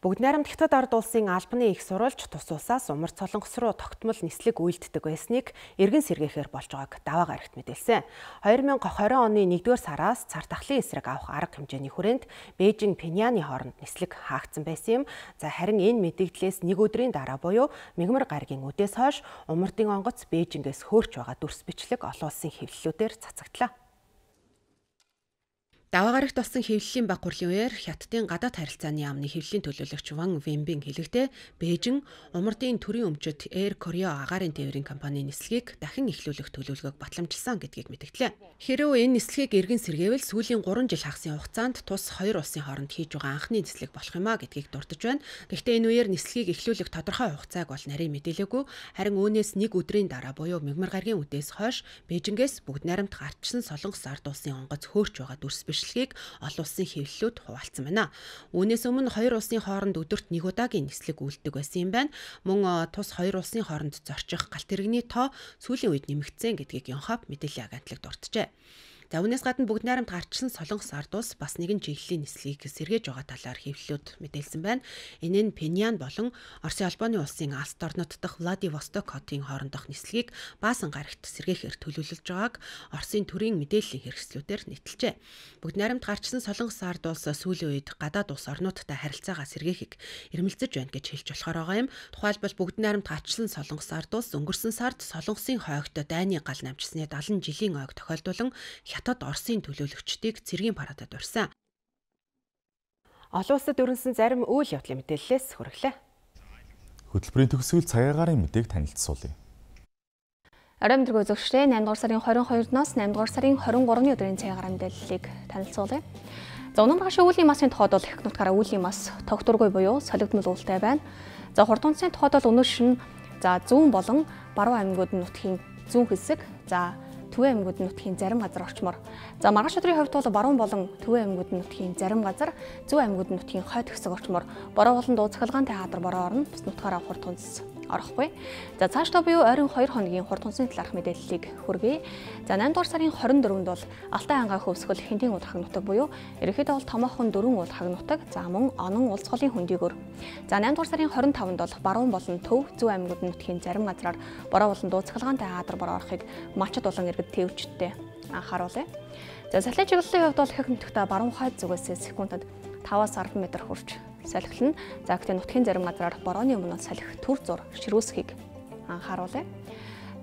Бүгд найрамд Хятад ард улсын албаны их сурвалж тус улсаас Умард Солонгос руу тогтмол нислэг үйлддэг байсныг эргэн сэргээхээр болж байгааг даваа гарагт мэдээлсэн. хоёр мянга хорин оны нэгдүгээр сараас цар тахлын эсрэг авах арга хэмжээний хүрээнд Бээжин Пхеньяны хооронд нислэг хаагдсан байсан юм. За харин энэ мэдээллээс нэг өдрийн дараа буюу мигмар гаригийн үдээс хойш Умардын онгоц Бээжингээс хөөрч байгаа дүрс бичлэг олон улсын хэвлэлүүдээр цацагдлаа. Даваа гарагт болсон хэвлэлийн баг хурлын үеэр Хятадын гадаад харилцааны яамны хэвлэлийн төлөөлөгч Ван Вэнбин хэлэхдээ Бээжин Умардын төрийн өмчөд Air Koryo агаарын тээврийн компанийн нислэгийг дахин эхлүүлэх төлөвлөгөөг батламжилсан гэдгийг мэдгдлээ. Хэрэв энэ нислэгийг эргэн сэргээвэл сүүлийн гурван жил хагасын хугацаанд тус хоёр улсын хооронд хийж байгаа анхны нислэг болох юм а гэдгийг дурдж байна. Гэхдээ энэ үеэр нислэгийг эхлүүлэх тодорхой хугацааг бол нарийн мэдээлээгүй. Харин үүнээс нэг өдрийн дараа буюу мигмар гаригийн үдээс хойш Бээжингээс бүгд найрамд гарчсан Солонгос ард улсын онгоц хөөрч байгаа дүрс г олон улсын хэвлэлүүд хуваалцсан байна. Үүнээс өмнө хоёр улсын хооронд өдөрт нэг удаагийн нислэг үйлддэг байсан юм байна. Мөн тус хоёр улсын хооронд зорчих галт тэрэгний тоо сүүлийн үед нэмэгдсэн гэдгийг Yonhap мэдээллийн агентлаг дурджээ. За үүнээс гадна бүгд найрамд гарчсан Солонгос ард улс бас нэгэн чиглэлийн нислэгийг сэргээж байгаа талаар хэвлэлүүд мэдээлсэн байна. Энэ нь Пхеньян болон Оросын албаны улсын Алс орнот дахь Владивосток хотын хоорондох нислэгийг Баасан гарагт сэргээхээр төлөвлөж байгааг Оросын төрийн мэдээллийн хэрэгслүүдээр нийтэлжээ. Бүгд найрамд гарчсан Солонгос ард улс сүүлийн үед гадаад улс орнуудтай харилцаагаа сэргээхийг эрмэлзэж байна гэж хэлж болохоор байгаа юм. Тухайлбал бүгд найрамд гарчсан Солонгос ард улс өнгөрсөн сард Солонгосын хойгт дайны гал намжсны дагалан жилийн ойг тохиолдуулан Хятад Оросын төлөөлөгчдийг цэргийн парадад урьсан. Олон улсад өрнөсөн зарим үйл явдлын мэдээллээс хүргэлээ. Хөтөлбөрийн төгсгөл цагаагаарын мэдээг танилцуулъя. Орой мэдрэг үзэгчдээ наймдугаар сарын хорин хоёрноос наймдугаар сарын хорин гуравны өдрийн цагаагаарын мэдээллийг танилцуулъя. За өнөөдөр гашуун үлийн масын тухайд бол их нутгаараа үлийн мас тогтургүй буюу солигдмол уултай байна. За хурд унцны тухайд бол өнөөдөр шин за зүүн болон баруун аймагуд нутгийн зүүн хэсэг, за Төвийн аймагуд нутгийн зарим газар орчмоор. За маргааш өдрийн хувьд бол баруун болон Төвийн аймагуд нутгийн зарим газар, зүүн аймагуд нутгийн хойд хэсэг орчмоор бороо болон дууцахалгаантай хаадар бороо орно. Бус нутгаараа хурд унц орохгүй. За цаашдаа буюу ойрын хоёр хоногийн хурд унцны талаарх мэдээллийг хүргэе. За наймдугаар сарын хорин дөрөвнд бол Алтай ангаа хөвсгөл Хинтийн уулхаг нутаг буюу ерөнхийдөө бол томоохон дөрвөн уулхаг нутаг, за мөн онон улс голын хөндийгөр. За наймдугаар сарын хорин тавнд бол баруун болон Төв, зүүн аймагуд нутгийн зарим газраар бороо болон дууцахалгаантай хаадар бороо орохыг мачид болон иргэд тээвчтэй анхааруулъя. За салхины чиглэлийн хувьд бол их нутагта баруун хойд зүгээс секундэд таваас арван метр хүрч салхилна. За гэхдээ нутгийн зарим газраар борооны өмнө салхи түр зур ширүүсхийг анхааруулъя.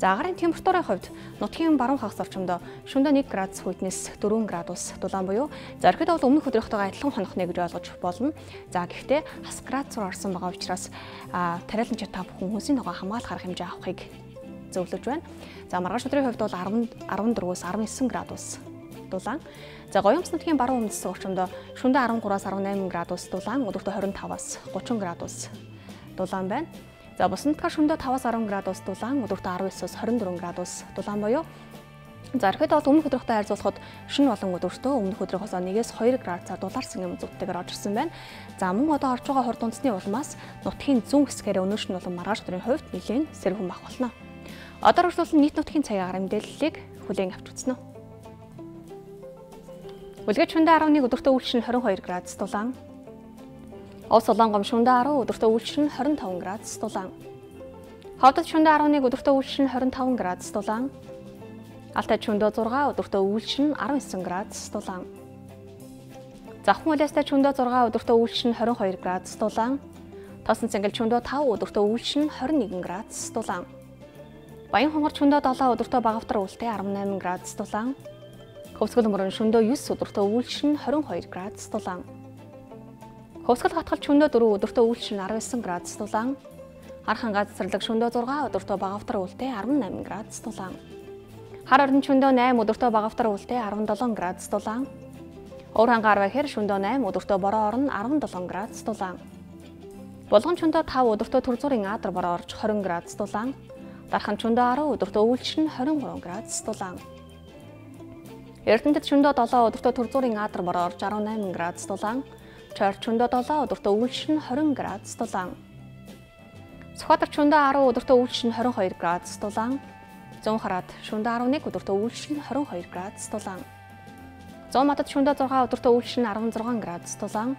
За агарын температурын хувьд нутгийн баруун хагас орчимдоо шөнөдөө нэг градус хүйтнээс дөрвөн градус дулаан буюу за ерөөдөө бол өмнөх өдрийнхтэйгээ адилхан хонохны гэж ойлгож болно. За гэхдээ хас градусаар орсон байгаа учраас тариаланч та бүхэн хүнсийн ногоо хамгаалах арга хэмжээ авахыг зөвлөж байна. За маргааш өдрийн хувьд бол арван дөрвөөс арван есөн градус дулаан. За Гоёмс нутгийн баруун өмнөд орчимдоо шөнөдөө арван гураас арван найман градус дулаан, өдөртөө хорин таваас гучин градус дулаан байна. За бус нутгаар шөнөдөө таваас арван градус дулаан, өдөртөө арван есөөс хорин дөрвөн градус дулаан буюу За ихэд бол өмнөх өдрийнхтэй харьцуулахад шөнө болон өдөртөө өмнөх өдрийнхоос нэгээс хоёр градусаар дулаарсан юм зүгттэйгээр орж ирсэн байна. За мөн одоо орж байгаа хурд үндэсний улмаас нутгийн зүүн хэсгээр өнөөшн болон маргааш өдрийн хувьд нэлээд сэрүүн бах болно. Одоо өргөжлүүлсэн нийт нутгийн цагийн агаар мэдээллийг хүлээн авч үзнэ. Үлгэж шөнөдөө арав нэг өдөртөө үйлчлэн хорин хоёр градус дулаан. Ов Солонгом шөнөдөө арав өдөртөө үйлчлэн хорин таван градус дулаан. Ховдод шөнөдөө арав нэг өдөртөө үйлчлэн хорин таван градус дулаан. Алтай шөнөдөө зургаан өдөртөө үйлчлэн арав нисэн градус дулаан. Завхан улаастай шөнөдөө зургаан өдөртөө үйлчлэн хорин хоёр градус дулаан. Тосон цэнгэл шөнөдөө тав өдөртөө үйлчлэн хорин нэгэн градус дулаан. Баян хонгор шөнөдөө долоо өдөртөө багавтар үлдээ арав найман градус дулаан. Хөвсгөл мөрөн шөнөдөө юс өдөртөө үйлчлэн хорин хоёр градус дулаан. Хөвсгөл хатгал шөнөдөө дөрөв өдөртөө үйлчлэн арав нисэн градус дулаан. Хархан газарлаг шөнөдөө зургаан өдөртөө багавтар үлдээ арав найман градус дулаан. Хар орон шөнөдөө найм өдөртөө багавтар үлдээ арав долоон градус дулаан. Уур хангаар бахир шөнөдөө найм өдөртөө бороо орон арав долоон градус дулаан. Булган шөнөдөө тав өдөртөө төрзүүрийн аадар бороо орж хорин градус дулаан. Дархан шөнөдөө арав өдөртөө үйлчлэн хорин гурван градус дулаан. Эрдэнэтэд шөнөдөө долоо өдөртөө төрзүүрийн аадар бороо орж арав найман градус дулаан. Чойр шөнөдөө долоо өдөртөө үйлчлэн хорин градус дулаан. Сүхбаатар шөнөдөө арав өдөртөө үйлчлэн хорин хоёр градус дулаан. Зүүн хараад шөнөдөө арав нэг өдөртөө үйлчлэн хорин хоёр градус дулаан. Зүүн матад шөнөдөө зургаан өдөртөө үйлчлэн арав зургаан градус дулаан.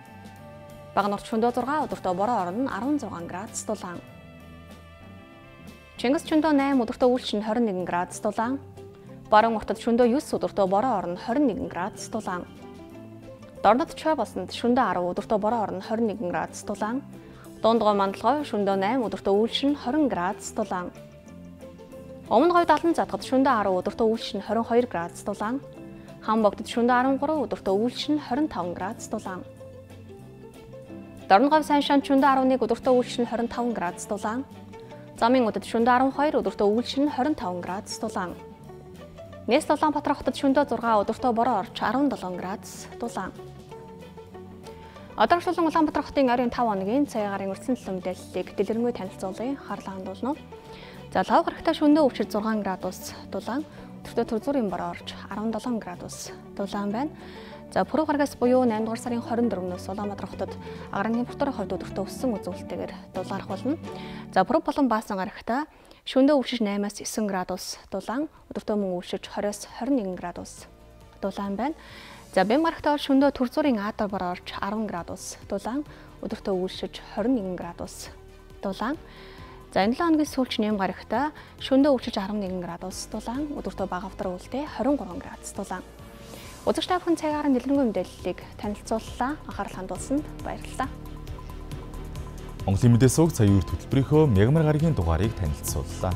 Багнурт шөнөдөө зургаан өдөртөө бороо орон арав зургаан градус дулаан. Чингис шөнөдөө найм өдөртөө үйлчлэн хорин нэгэн градус дулаан. Баруун уртад шөнөдөө юс өдөртөө бороо орон хорин нэгэн градус дулаан. Дорнод чой болсонд шөнөдөө арав өдөртөө бороо орон хорин нэгэн градус дулаан. Дундгой мандалгой шөнөдөө найм өдөртөө үйлчлэн хорин градус дулаан. Өмнө говьд алан задгад шөнөдөө арав өдөртөө үйлчлэн хорин хоёр градус дулаан. Хам богдод шөнөдөө арав гурав өдөртөө үйлчлэн хорин таван градус дулаан. Дорноговь сайн шанд шөнөдөө арав нэг өдөртөө үйлчлэн хорин таван градус дулаан. Замын удад шөнөдөө арав хоёр өдөртөө үйлчлэн хорин таван градус дулаан. Нэс Улаанбаатар хотод шөнөдөө зургаан өдөртөө бороо орж арав долоон градус дулаан. Одоо шулуун Улаанбаатар хотын ойрын тав хоногийн цагийн агаарын өртсөн төлөв мэдээллийг дэлгэрэнгүй танилцуулъя. Харлаа хандуулна. За лав гарагтай шөнөдөө өвчир зургаан градус дулаан. Өдөртөө төрзүүрийн бороо орж арав долоон градус дулаан байна. За пүрэв гарагаас буюу найман дугаар сарын хорин дөрөвнөөс Улаанбаатар хотод агаарын температурын хувьд өдөртөө өссөн үзүүлэлтэйгээр дулаарах болно. За пүрэв болон баасан гарагтай шөнөдөө өвчиж наймаас девять градус дулаан, өдөртөө мөн өвчиж двадцать-аас двадцать один градус дулаан байна. За бэм гарагтай шөнөдөө төрзүүрийн аадар бороо орж арав градус дулаан, өдөртөө өвчиж двадцать один градус дулаан. За энэ лоо хоногийн сүүлч нэм гарагтай шөнөдөө өвчиж арав нэгэн градус дулаан, өдөртөө багавтар үлдээ двадцать и три градус дулаан. Үзэгч та бүхэн цагаараа дэлгэрэнгүй мэдээллийг танилцууллаа. Анхаарал хандуулсанд баярлалаа. Монголын мэдээ суваг цагийн үр хөтөлбөрийнхөө мягмар гарагийн дугаарыг танилцууллаа.